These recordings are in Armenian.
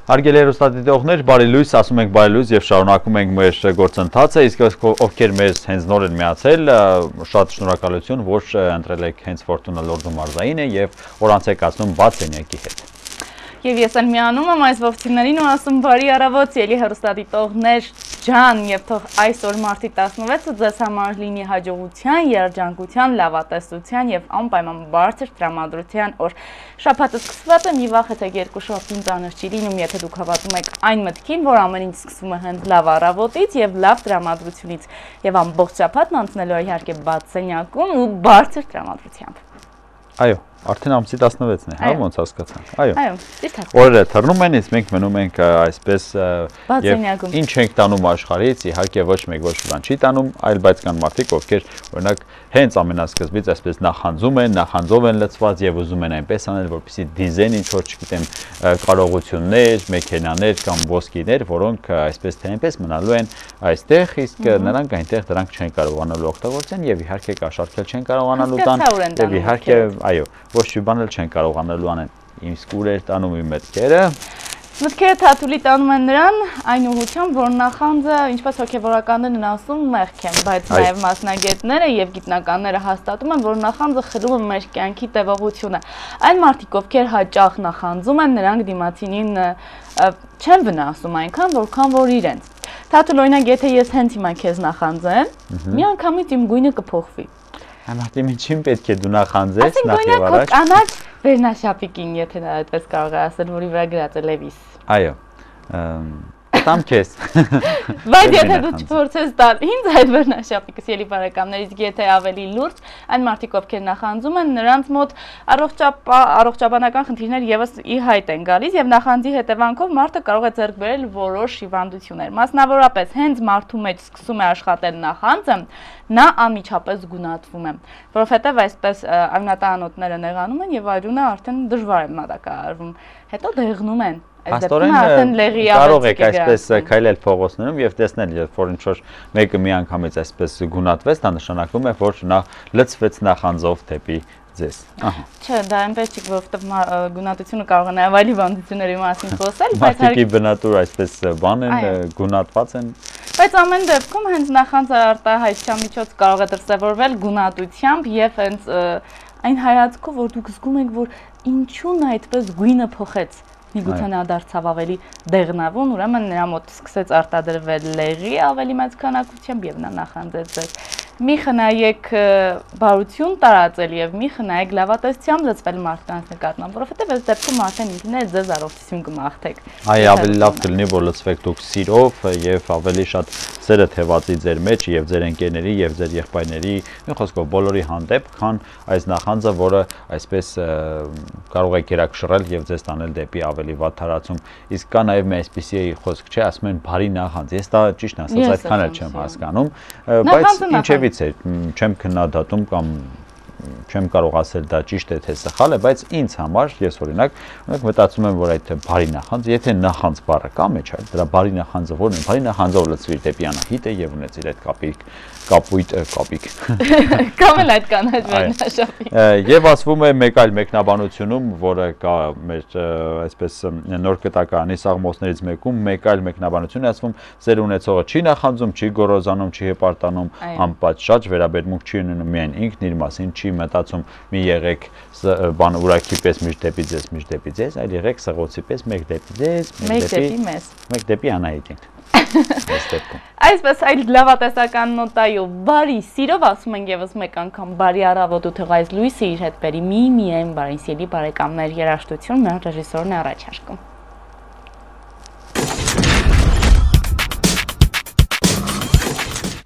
Հարգելի հեռուստադիտողներ, բարի լույս, ասում ենք բարի լույս եւ շարունակում ենք մեր գործընթացը, իսկ ովքեր մեզ հենց նոր են միացել, շատ շնորհակալություն, որ ընտրել եք հենց Ֆորտունա Լորդու մարզայինը եւ օրանց եք ասում բաց սենյակի հետ։ Եվ ես էլ միանում եմ այս ողջույններին ու ասում բարի առավոտ, ելի հեռուստադիտողներ ջան, եւ թող այսօր մարտի 16-ը ձեզ համար լինի հաջողության, երջանկության, լավատեսության եւ անպայման բարձր տրամադրության օր։ Շաբաթը սկսված է, մի վաղ թե երկու շաբթին ծանր չի լինում, եթե դուք հավատում եք այն մտքին, որ ամեն ինչ սկսվում է հենց լավ առավոտից եւ լավ տրամադրությունից եւ ամբողջ շաբաթն անցնելու է իհարկե բաց սենյակում ու բարձր տրամադրությամբ։ Այո, արդեն ամսի 16-ն է, հա, ոնց հասկացանք։ Այո, օրերը թռնում են, իսկ մենք մնում ենք այսպես եւ ինչ ենք տանում աշխարհից, իհարկե ոչ մեկ ոչ մի բան չի տանում, այլ բայց կան մարդիկ, ովքեր օրինակ հենց ամենասկզբից այսպես նախանձում են, նախանձով են լցված եւ ուզում են այնպես անել, որպեսզի դիզայն ինչ որ չգիտեմ կարողություններ, մեքենաներ կամ ոսկիներ, որոնք այսպես թե այնպես մնալու են այստեղ, իսկ նրանք այնտեղ դրանք չեն կարողանալու օգտագործեն եւ իհարկե կաշառքել չեն կարողանալու տան եւ իհարկե այո, ոչ մի բան էլ չեն կարողանալու անեն։ Իսկ ուր էր տանում իմ մտքերը։ Մտքերը Թաթուլի տանում են նրան այն ուղղությամբ, որ նախանձը, ինչպես հոգեվորականներն են ասում, մեղք են, բայց նաև մասնագետները եւ գիտնականները հաստատում են, որ նախանձը խլում է մեր կյանքի տևողությունը։ Այն մարդիկ, ովքեր հաճախ նախանձում են, նրանք դիմացինին չեն վնասում այնքան, որքան որ իրենց։ Թաթուլ, օրինակ, եթե ես հենց հիմա քեզ նախանձեմ, միանգամից իմ գույնը կփոխվի։ Անհատի ինչին պետք է դու նախանձես նախ եւ առաջ։ Կանաչ վերնաշապիկին, եթե նա այդպես կարող է ասել, որի վրա գրած է Լևիս։ Այո։ Տամ քեզ։ Բայց եթե դու չփորձես տալ ինձ այդ վերնաշապիկս, ելի բարեկամներ, իսկ եթե ավելի լուրջ, այն մարդիկ, ովքեր նախանձում են, նրանց մոտ առողջապանական խնդիրներ եւս ի հայտ են գալիս եւ նախանձի հետևանքով մարդը կարող է ձեռք բերել որոշ հիվանդություններ։ Մասնավորապես հենց մարդու մեջ սկսում է աշխատել նախանձը, նա անմիջապես գունատվում է, որովհետև այսպես արյունատանոթները նեղանում են եւ արյունը արդեն դժվար է մատակարարվում, հետո դեղնում են։ Աստորեն կարող եք այսպես քայլել փողոցներում եւ տեսնել, երբ որ ինչ որ մեկը միանգամից այսպես գունատվեց, դա նշանակում է, որ նա լցվեց նախանձով դեպի ձեզ։ Չէ, դա այնպես չի, որովհետև գունատությունը կարող է նաև այլ հիվանդությունների մասին խոսել, բայց մարդիկի բնատուր այսպես բան են, գունատված են։ Բայց ամեն դեպքում հենց նախանձը արտահայտության միջոց կարող է դրսևորվել գունատությամբ եւ հենց այն հայացքով, որ դուք զգում եք, որ ինչու՞ն այդպես գույնը փոխեց։ Միգուցե նա դարձավ ավելի դեղնավուն, ուրեմն նրա մոտ սկսեց արտադրվել լեղի ավելի մեծ քանակությամբ եւ նա նախանձեց ձեզ։ Մի խնայեք բարություն տարածել եւ մի խնայեք լավատեսությամբ լծվել մարդկանց նկատմամբ, որովհետեւ այս դեպքում արդեն ինքներդ ձեզ առողջություն կմաղթեք։ Այ ավելի լավ կլինի, որ լծվեք դուք սիրով եւ ավելի շատ սերը թևածի ձեր մեջ եւ ձեր ընկերների եւ ձեր եղբայրների, մի խոսքով բոլորի հանդեպ, քան այս նախանձը, որը այսպես կարող է գերակշռել եւ ձեզ տանել դեպի ավելի վատ տարածում։ Իսկ կա նաեւ մի այսպիսի խոսք չէ, ասում են բարի նախանձ։ Ես դա ճիշտ ասած այդքան էլ չեմ հասկանում, բայց ինչեւից է, չեմ քննադատում կամ չեմ կարող ասել դա ճիշտ է թե սխալ է, բայց ինձ համար ես օրինակ մտածում եմ, որ այդ բարի նախանձ, եթե նախանձ բառը կա մեջ, այլ դրա բարի նախանձը որն է, բարի նախանձով լցվիր դեպի Անահիտը եւ ունեցիր այդ կապույտ Կամ էլ այդ կանաչ վերնաշապիկ։ Եվ ասվում է մեկ այլ մեկնաբանությունում, որը կա մեր այսպես նոր կտակարանի սաղմոսներից մեկում, մեկ այլ մեկնաբանություն է ասվում, սեր ունեցողը չի նախանձում, չի գոռոզանում, չի հպարտանում, անպատշաճ վերաբերմունք չի ունենում միայն ինքն իր մասին, չի մտածում մի եղեք բան ուրակի պես միշտ դեպի ձեզ, այլ եղեք սղոցի պես մեկ դեպի ձեզ, մեկ դեպի Անահիտին։ Այսպես այլ լավատեսական նոտայով բարի սիրով ասում ենք եւս մեկ անգամ բարի առավոտ ու թող այս լույսը իր հետ բերի միայն բարի սիրելի բարեկամներ երաժշտություն մեր ռեժիսորն է առաջարկում։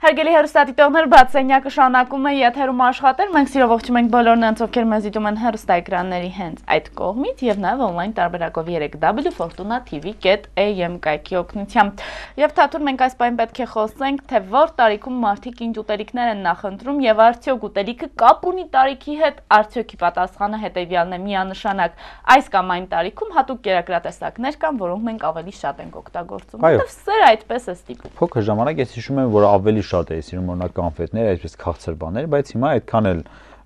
Հարգելի հեռուստադիտողներ, բաց սենյակը շարունակում է եթերում աշխատել, մենք սիրով ողջում ենք բոլոր նրանց, ովքեր մեզ դիտում են հեռուստաէկրանների հենց այդ կողմից եւ նաեւ on-line տարբերակով 3w.fortuna.tv.am կայքի օգնությամբ։ Եվ Թաթուլ, մենք այս պահին պետք է խոսենք, թե որ տարիքում մարդիկ ինչ ուտելիքներ են նախընտրում եւ արդյոք ուտելիքը կապ ունի տարիքի հետ, արդյոք պատասխանը հետեւյալն է՝ միանշանակ այս կամ այն տարիքում հատուկ կերակրատեսակներ կան, որոնք մենք ավելի շատ ենք օգտագործում։ Որտեւ սերը այդպես է ստիպում։ Փոքր ժամանակ ես հիշում եմ, որ ավելի շատ էի սիրում օրինակ կոնֆետներ, այսպես քաղցր բաներ, բայց հիմա այդքան էլ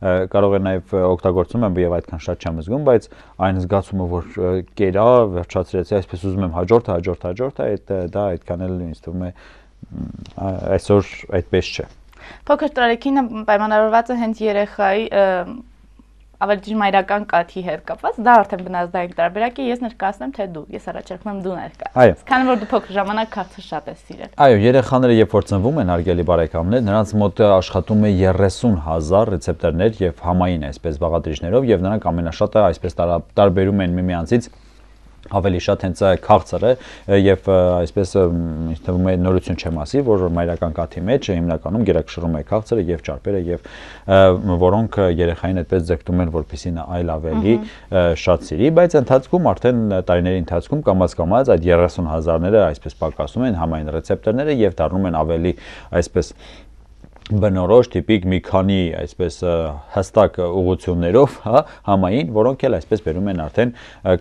կարող է նաև օգտագործում եմ եւ այդքան շատ չեմ զգում, բայց այն զգացումը, որ կերա, վերջացրեցի, այսպես ուզում եմ հաջորդը, դա այդքան էլ ինձ թվում է այսօր այդպես չէ։ Փոքր տարեքինը պայմանավորված է հենց երեխայի ավելի ճշմարիտական կաթի հետ կապված, դա արդեն բնազդային տարբերակ է, ես ներկայացնեմ թե դու, ես առաջարկում եմ դու ներկայացնես։ Քանի որ դու փոքր ժամանակ քաղցը շատ ես սիրել։ Այո, երեխաները երբ որ ծնվում են, հարգելի բարեկամներ, նրանց մոտ աշխատում է 30,000 ռեցեպտորներ եւ համային այսպես բաղադրիչներով եւ նրանք ամենաշատը այսպես տարբերում են միմյանցից ավելի շատ հենց քաղցրը եւ այսպես ինձ թվում է նորություն չեմ ասի, որ մայրական կաթի մեջ հիմնականում գերակշռում է քաղցրը եւ ճարպերը եւ որոնք երեխային այդպես ձգտում են, որպեսզի նա այլ ավելի շատ սիրի, բայց ընթացքում արդեն տարիների ընթացքում կամաց-կամաց այդ 30,000-ները այսպես պակասում են համային ռեցեպտորները եւ դառնում են ավելի այսպես բնորոշ տիպիկ մի քանի այսպես հստակ ուղղություններով, հա, համային, որոնք էլ այսպես բերում են արդեն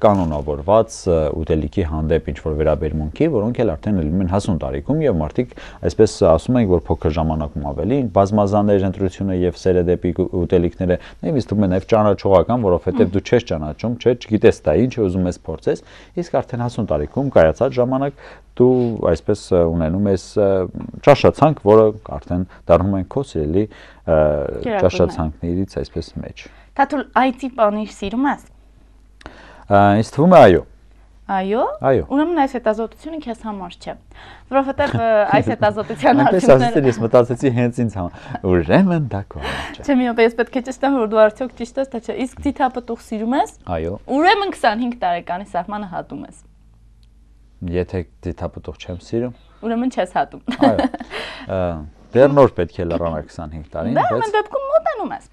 կանոնավորված ուտելիքի հանդեպ ինչ-որ վերաբերմունքի, որոնք էլ արդեն լինում են հասուն տարիքում եւ մարդիկ այսպես ասում են, որ փոքր ժամանակում ավելի բազմազաններ ընտրությունը եւ սերը դեպի ուտելիքները նաեւ ինձ թվում է նաեւ ճանաչողական, որովհետեւ դու չես ճանաչում, չէ, չգիտես դա ինչ ուզում ես փորձես, իսկ արդեն հասուն տարիքում կայացած ժամանակ դու այսպես ունենում ես ճաշացանկ, որը արդեն դառնում են քո սիրելի ճաշացանկներից այսպես մեջ։ Թաթուլ այծի պանիր սիրում ես։ Ինձ թվում է այո։ Այո։ Այո։ Ուրեմն այս հետազոտությունը քեզ համար չէ, որովհետև այս հետազոտության արդյունքները ես մտածեցի հենց ինձ համար։ Ուրեմն դա քո համար չէ։ Չէ, մի օր ես պետք է ճշտեմ, որ դու արդյոք ճիշտ ես, թե չէ։ Իսկ թիթապտուղ սիրում ես։ Այո։ Ուրեմն 25 տարեկանի սահմանը հատում ես։ Եթե թիթապտուղ չեմ սիրում, ուրեմն չես հատում։ Այո։ Դեռ նոր պետք է լրանալ 25 տարին, բայց դա դեպքում մոտենում ես։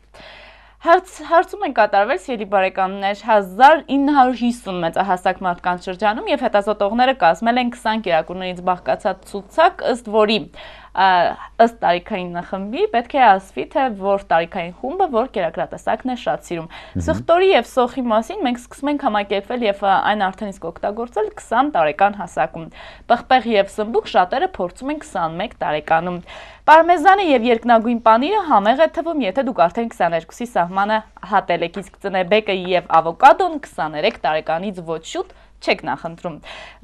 Հարցում են կատարվել սիրելի բարեկամներ 1950 մեծահասակ մարդկանց շրջանում եւ հետազոտողները կազմել են 20 կերակուրներից բաղկացած ցուցակ, ըստ որի ըստ տարիքային խմբի պետք է ասվի, թե որ տարիքային խումբը որ կերակրատեսակն է շատ սիրում։ Սխտորի եւ սոխի մասին մենք սկսում ենք համակերպվել եւ այն արդեն իսկ օգտագործել 20 տարեկան հասակում։ Պղպեղ եւ սմբուկ շատերը փորձում են 21 տարեկանում։ Պարմեզանը եւ երկնագույն պանիրը համեղ է թվում, եթե դուք արդեն 22-ի սահմանը հատել եք, իսկ ծնեբեկը եւ ավոկադոն 23 տարեկանից ոչ շուտ չեք նախընտրում։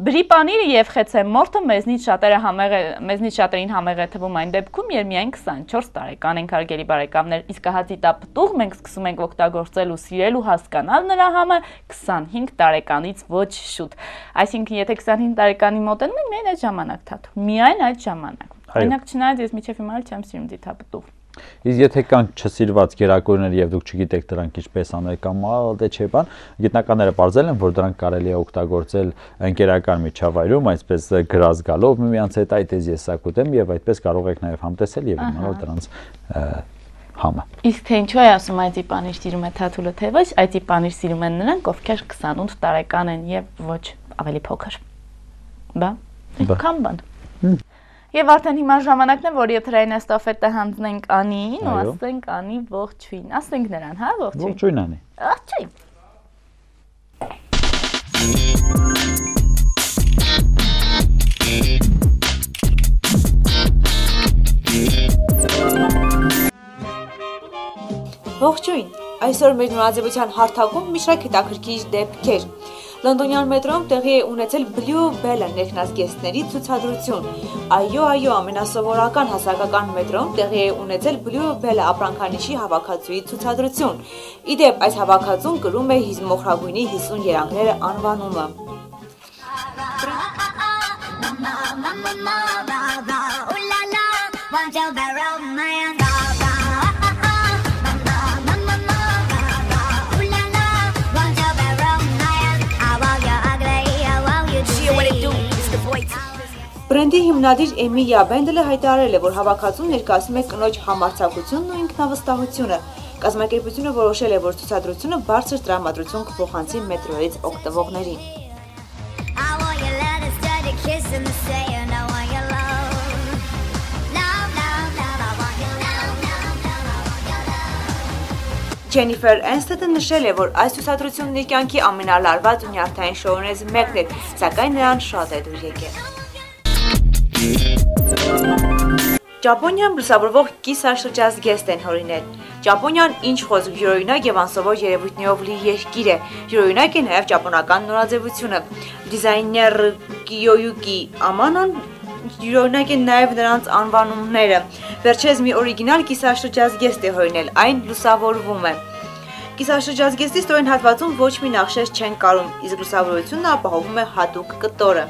Բրի պանիրը եւ խեցե մորթը մեզնից շատերին համեղ է թվում այն դեպքում, երբ միայն 24 տարեկան ենք, հարգելի բարեկամներ, իսկ հացի տապտուղ մենք սկսում ենք օգտագործել ու սիրել ու հասկանալ նրա համը 25 տարեկանից ոչ շուտ։ Այսինքն, եթե 25 տարեկանի մոտենում ենք, միայն այդ ժամանակ թաթու, միայն այդ ժամանակ։ Օրինակ, չնայած ես միջև հիմա չեմ սիրում դիթապտուղ։ Իսկ եթե կան չսիրված կերակուրներ եւ դուք չգիտեք դրանք ինչպես անել կամ դե չէ բան, գիտնականները ողջել են, որ դրանք կարելի է օգտագործել ընկերական միջավայրում, այսպես գրազ գալով միմյանց հետ այդ էս ես ակուտեմ եւ այդպես կարող եք նաեւ համտեսել եւ իմանալ դրանց համը։ Իսկ թե ինչու է ասում այծի պանիր սիրում է Թաթուլը թե ոչ, այծի պանիր սիրում են նրանք, ովքեր 28 տարեկան են եւ ոչ ավելի փոքր։ Բա։ Քան բան։ Եվ արդեն հիմա ժամանակն է, որ եթերային էստաֆետը հանձնենք Անիին ու ասենք Անի ողջույն։ Ասենք նրան, հա, ողջույն։ Ողջույն Անի։ Ողջույն։ Ողջույն։ Այսօր մեր նորաձևության հարթակում մի շարք հետաքրքիր դեպքեր։ Լոնդոնյան մետրոյում տեղի է ունեցել Blue Bell ներքնազգեստների ցուցադրություն։ Այո, ամենասովորական հասարակական մետրոյում տեղի է ունեցել Blue Bell ապրանքանիշի հավաքածուի ցուցադրություն։ Իդեպ, այս հավաքածուն կրում է հիզմոխրագույնի 50 երանգները անվանումը։ Բրենդի հիմնադիր Էմիլիա Բենդելը հայտարարել է, որ հավաքածուն ներկայացնում է կնոջ համարձակությունն ու ինքնավստահությունը։ Կազմակերպությունը որոշել է, որ ցուցադրությունը բարձր տրամադրություն կփոխանցի մետրոյից օգտվողներին։ Ջենիֆեր Էնստետը նշել է, որ այս ցուցադրությունն իր կյանքի ամենալարված ու նյարդային շոուներից մեկն էր, սակայն նրան շատ է դուր եկել։ Ճապոնիայում լուսավորվող կիսաշրջազգեստ են հորինել։ Ճապոնիան ինչ խոսք յուրօրինակ եւ անսովոր երևույթներով լի երկիր է։ Յուրօրինակ է նաեւ ճապոնական նորաձևությունը։ Դիզայներ Կիյոյուկի Ամանոն յուրօրինակ են նաեւ նրանց անվանումները։ Վերջերս մի օրիգինալ կիսաշրջազգեստ է հորինել, այն լուսավորվում է։ Կիսաշրջազգեստի ստորին հատվածում ոչ մի նախշեր չեն կարում, իսկ լուսավորությունը ապահովում է հատուկ կտորը։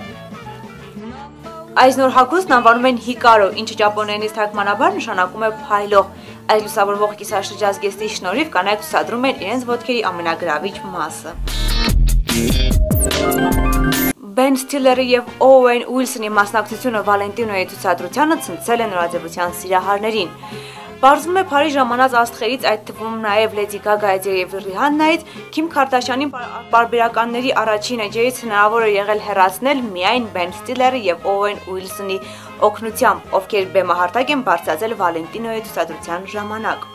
Այս նոր հագուստն անվանում են հիկարո, ինչը ճապոներենից թարգմանաբար նշանակում է փայլող։ Այս լուսավորվող կիսաշրջազգեստի շնորհիվ կանայք ցուցադրում են իրենց ոտքերի ամենագրավիչ մասը։ Բեն Ստիլլերի եւ Օուեն Ուիլսոնի մասնակցությունը Վալենտինոյի ցուցադրությանը ցնցել է նորաձևության սիրահարներին։ Պարզվում է Փարիզ ժամանած աստղերից, այդ թվում նաև Լեդի Գագայից եւ Ռիհաննայից, Քիմ Քարդաշյանի պարբերականների առաջին էջերից հնարավոր է եղել հեռացնել միայն Բեն Ստիլլերի եւ Օուեն Ուիլսոնի օգնությամբ, ովքեր բեմահարտակ են բարձրացել Վալենտինոյի ցուցադրության ժամանակ։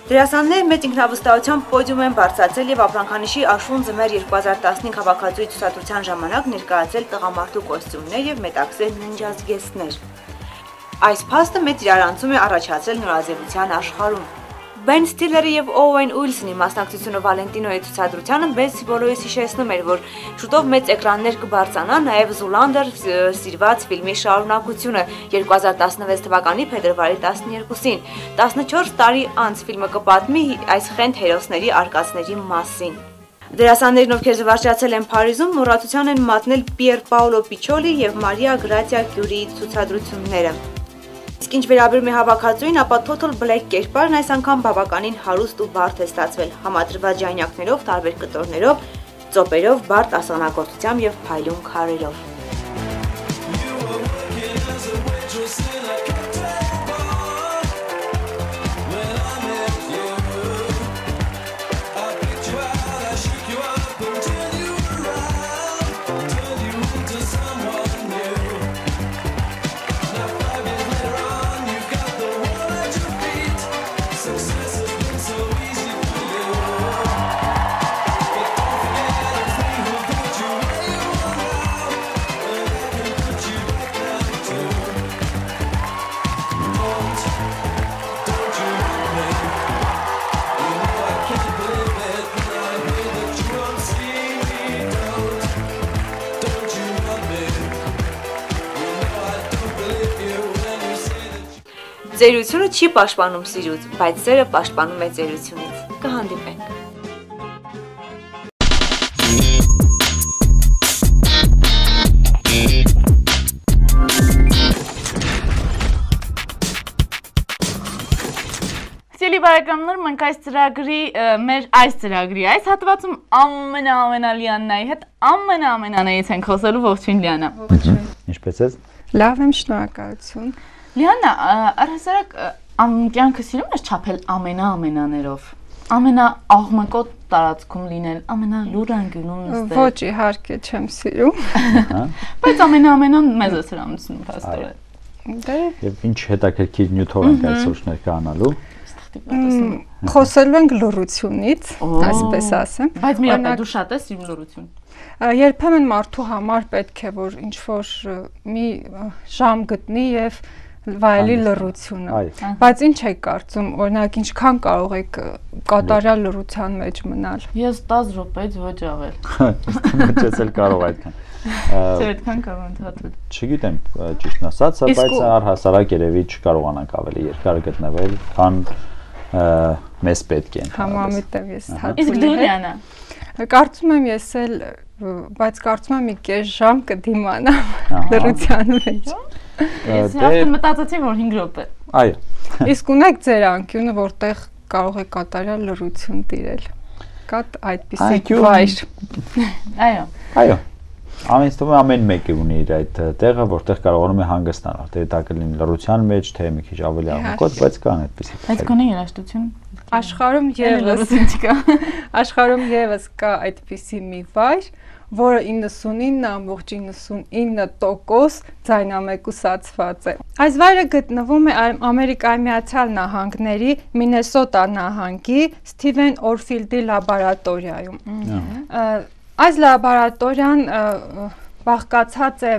Դերասանները մեծ ինքնավստահությամբ պոդիում են բարձրացել եւ ապրանքանիշի Աշուն ձմեռ 2015 հավաքածուի ցուցադրության ժամանակ ներկայացել տղամարդու կոստյումներ եւ մետաքսե ննջազգեստներ։ Այս փաստը մեծ իրարանցում է առաջացել նորաձևության աշխարհում։ Բեն Ստիլլերի եւ Օուեն Ուիլսոնի մասնակցությունը Վալենտինոյի ցուցադրությանը մեծ բոլորիս հիշեցնում էր, որ շուտով մեծ էկրաններ կբարձրանա նաեւ Զուլանդեր սիրված ֆիլմի շարունակությունը 2016 թվականի փետրվարի 12-ին։ 14 տարի անց ֆիլմը կպատմի այս խենթ հերոսների արկածների մասին։ Դերասաններն, ովքեր զվարճացել են Փարիզում, մոռացության են մատնել Պիեր Պաոլո Պիչոլի եւ Մարիա Գրացիա Կյուրիի ցուցադրությունները։ Իսկ ինչ վերաբերում է հավաքածուին, ապա Total Black կերպարն այս անգամ բավականին հարուստ ու բարդ է ստացվել, համադրված ժանյակներով, տարբեր կտորներով, ծոպերով, բարդ ասեղնագործությամբ եւ փայլուն քարերով։ Ծերությունը չի պաշտպանում սիրուց, բայց սերը պաշտպանում է ծերությունից։ Կհանդիպենք։ Սիրելի բարեկամներ, մենք այս ծրագրի այս հատվածում ամենալիանայի հետ ամենանայից ենք խոսելու ողջույն Լիանա։ Ինչպես ես։ Լավ եմ, շնորհակալություն։ Լիանա, առհասարակ կյանքը սիրում ես չափել ամենաներով, ամենաաղմկոտ տարածքում լինել, ամենալուր անկյունում նստել։ Ոչ, իհարկե չեմ սիրում։ Բայց ամենան մեծ է սրանցում փաստորեն։ Դե Եվ ինչ հետաքրքիր նյութով ենք այսօր շնորհքանալու։ Խոսելու ենք լռությունից, այսպես ասեմ։ Բայց մի հատ դու շատ ես սիրում լռություն։ Երբեմն մարդու համար պետք է որ ինչ որ մի ժամ գտնի եւ վայելի լռությունը, բայց ինչ եք կարծում, օրինակ ինչքան կարող եք կատարյալ լռության մեջ մնալ։ Ես 10 րոպեից ոչ ավել։ Ես էլ կարող այդքան։ Չէ, այդքան կարող ընդհատել։ Չգիտեմ, ճիշտն ասած, բայց առհասարակ երևի չկարողանանք ավելի երկար գտնվել, քան մեզ պետք է։ Համամիտ եմ ես հատուկ։ Իսկ դու Լիանա։ Կարծում եմ ես էլ, բայց կարծում եմ մի կես ժամ կդիմանամ լռության մեջ։ Ես հաշտը մտածեցի, որ 5 րոպե։ Այո։ Իսկ ունեք ձեր անկյունը, որտեղ կարող եք կատարյալ լռություն տիրել։ կա այդպիսի վայր։ Այո։ Ամենից թվում է ամեն մեկը ունի իր այդ տեղը, որտեղ կարողանում է հանգստանալ, թե դա կլինի լռության մեջ, թե մի քիչ ավելի աղմուկոտ, բայց կան այդպիսի։ Բայց գոնե երաժշտություն աշխարհում եւս կա այդպիսի մի վայր, որը 99.99% ձայնամեկուսացված է։ Այս վայրը գտնվում է Ամերիկայի Միացյալ Նահանգների Մինեսոտա նահանգի Սթիվեն Օրֆիլդի լաբորատորիայում։ Այս լաբորատորիան բաղկացած է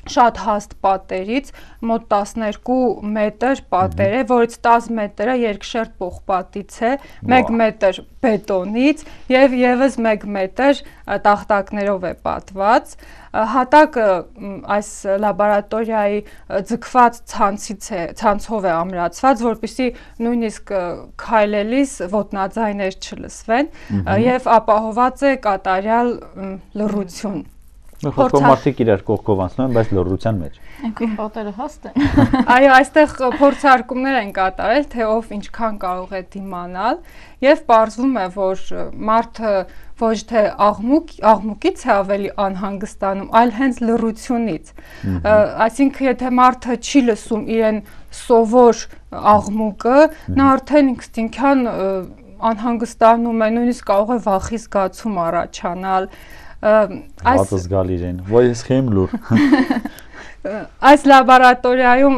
շատ հաստ պատերից, մոտ 12 մետր պատեր է, որից 10 մետրը երկշերտ պողպատից է, 1 մետր բետոնից եւ եւս 1 մետր տախտակներով է պատված։ Հատակը այս լաբորատորիայի ձգված ցանցով է ամրացված, որպեսզի նույնիսկ քայլելիս ոտնաձայներ չլսվեն եւ ապահոված է կատարյալ լռություն։ Խոսքով մարդիկ իրար կողքով անցնում են, բայց լռության մեջ։ Այնքան պատերը հաստ են։ Այո, այստեղ փորձարկումներ են կատարել, թե ով ինչքան կարող է դիմանալ, եւ պարզվում է, որ մարդը ոչ թե աղմուկից է ավելի անհանգստանում, այլ հենց լռությունից։ Այսինքն, եթե մարդը չի լսում իրեն սովոր աղմուկը, նա արդեն ինստինկտյան անհանգստանում է, նույնիսկ կարող է վախի զգացում առաջանալ։ Այս զգալ իրեն, ոյ ես խեմ լուր։ Այս լաբորատորիայում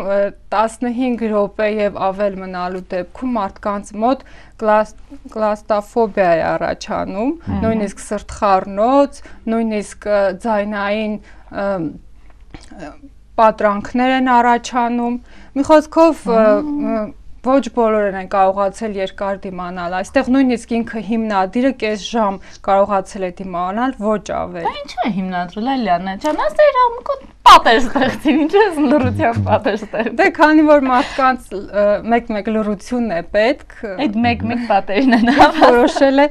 15 րոպե եւ ավել մնալու դեպքում մարդկանց մոտ կլաստրոֆոբիա է առաջանում, նույնիսկ սրտխառնոց, նույնիսկ ձայնային պատրանքներ են առաջանում։ Մի խոսքով ոչ բոլորն են կարողացել երկար դիմանալ։ Այստեղ նույնիսկ ինքը հիմնադիրը կես ժամ կարողացել է դիմանալ, ոչ ավել։ Դա ինչու է հիմնադրել Լիլիանա ջան, ասա իր աղմուկոտ պատեր ստեղծին, ինչու է լռության պատեր ստեղծել։ Դե քանի որ մարդկանց մեկ-մեկ լռությունն է պետք, այդ մեկ-մեկ պատերն են որոշել է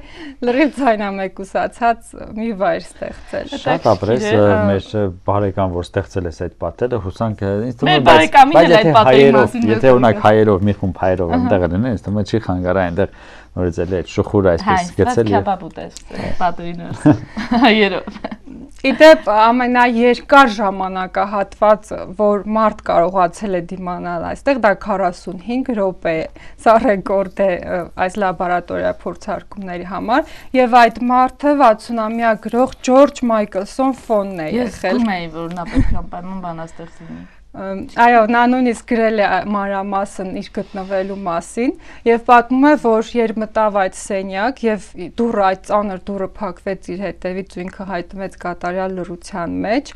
լրիվ ձայնամեկուսացած մի վայր ստեղծել։ Շատ ապրես մեր բարեկամ, որ ստեղծել էս այդ պատերը, հուսանք ինձ թվում է, բայց եթե օրինակ հայերով մի խումբ հայերով այնտեղ լինեն, ինձ թվում է չի խանգարա այնտեղ նորից էլի այդ շուխուրը այսպես գցել եւ պատերին հայերով։ Իդեպ ամենաերկար ժամանակահատված, որ մարդ կարողացել է դիմանալ այստեղ, դա 45 րոպե է։ Սա ռեկորդ է այս լաբորատորիա փորձարկումների համար, եւ այդ մարդը 60-ամյա գրող Ջորջ Մայքլսոն Ֆոնն է եղել։ Ես գում էի, որ նա պետք է անպայման բանաստեղծ լինի։ Այո, նա նույնիսկ գրել է մանրամասն իր գտնվելու մասին եւ պատմում է, որ երբ մտավ այդ սենյակ եւ դուռը այդ ծանր դուռը փակվեց իր հետևից ու ինքը հայտնվեց կատարյալ լռության մեջ,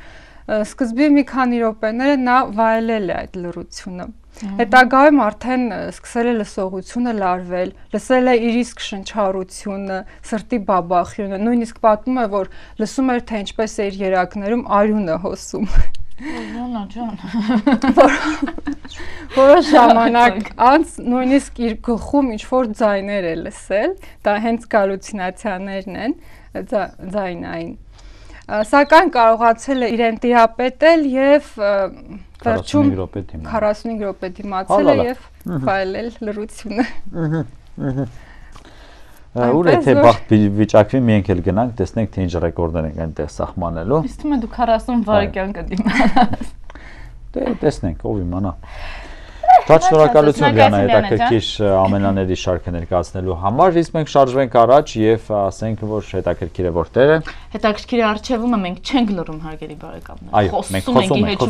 սկզբի մի քանի րոպեները նա վայելել է այդ լռությունը։ Հետագայում արդեն սկսել է լսողությունը լարվել, լսել է իր իսկ շնչառությունը, սրտի բաբախյունը, նույնիսկ պատմում է, որ լսում էր, թե ինչպես է իր երակներում արյունը հոսում։ Լանա ջան։ Որոշ ժամանակ անց նույնիսկ իր գլխում ինչ-որ ձայներ է լսել, դա հենց գալուցինացիաներն են, ձայնային։ Սակայն կարողացել է իրեն տիրապետել եւ վերջում 45 րոպե դիմացել է եւ վայելել լռությունը։ Ուր է թե բախտ վիճակվի մենք էլ գնանք, տեսնենք թե ինչ ռեկորդներ ենք այնտեղ սահմանելու։ Իսկ թվում է դու 40 վայրկյան կդիմանաս։ Դե տեսնենք, ով իմանա։ Շատ շնորհակալություն Լիանա, հետաքրքիր ամենաների շարքը ներկայացնելու համար, իսկ մենք շարժվենք առաջ եւ ասենք, որ հետաքրքիր է որտեղ է։ Հետաքրքիր է արխիվումը մենք չենք լռում հարգելի բարեկամներ։ Այո, մենք խոսում ենք,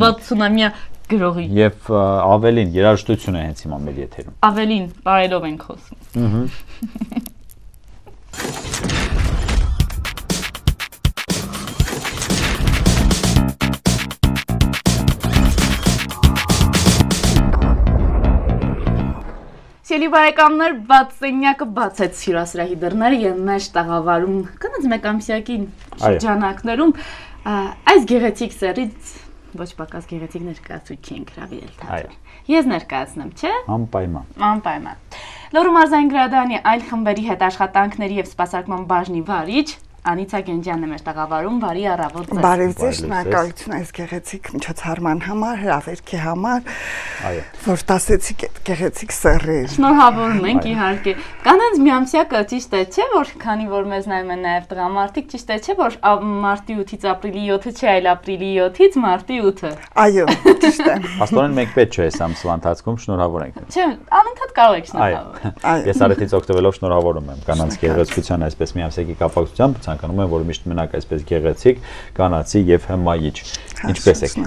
60-ամյա գրողի։ Եվ ավելին երաժշտություն է հենց հիմա մեր եթերում։ Ավելին բարելով ենք խոսում։ Սիրելի բարեկամներ, բացենյակը բացեց հյուրասրահի դռները եւ մեր տաղավարում կանած մեկամսյակի շրջանակներում այս գեղեցիկ սերից ոչ պակաս գեղեցիկ ներկայացուցիչ ենք հրավիրել թատրոն։ Ես ներկայացնեմ, չէ՞։ Անպայման։ Լոռու մարզային գրադարանի այլ խմբերի հետ աշխատանքների եւ սպասարկման բաժնի վարիչ Անիցա Գենջյանն է մեր տաղավարում, բարի առավոտ ձեզ։ Բարև ձեզ, շնորհակալություն այս գեղեցիկ միջոցառման համար, հրավերքի համար, որ տասեցիք այդ գեղեցիկ սեռեր։ Շնորհավորում ենք իհարկե։ Կանանց միամսյակը ճիշտ է, չէ՞ որ քանի որ մեզ նայում են նաև տղամարդիկ, ճիշտ է, չէ՞ որ մարտի 8-ից ապրիլի 7-ը չէ, այլ ապրիլի 7-ից մարտի 8-ը։ Այո, ճիշտ է։ Աստորեն մենք պետք չէ այս ամսվա ընթացքում շնորհավոր ենք։ Չէ, անընդհատ կարող եք շնորհավորել։ Ես արեցից օգտվելով շնորհավորում եմ կանանց գեղեցկության այսպես միամսյակի կապակցությամբ, ցանկանում եմ որ միշտ մնաք այսպես գեղեցիկ, կանացի եւ հմայիչ։ Ինչպես եք։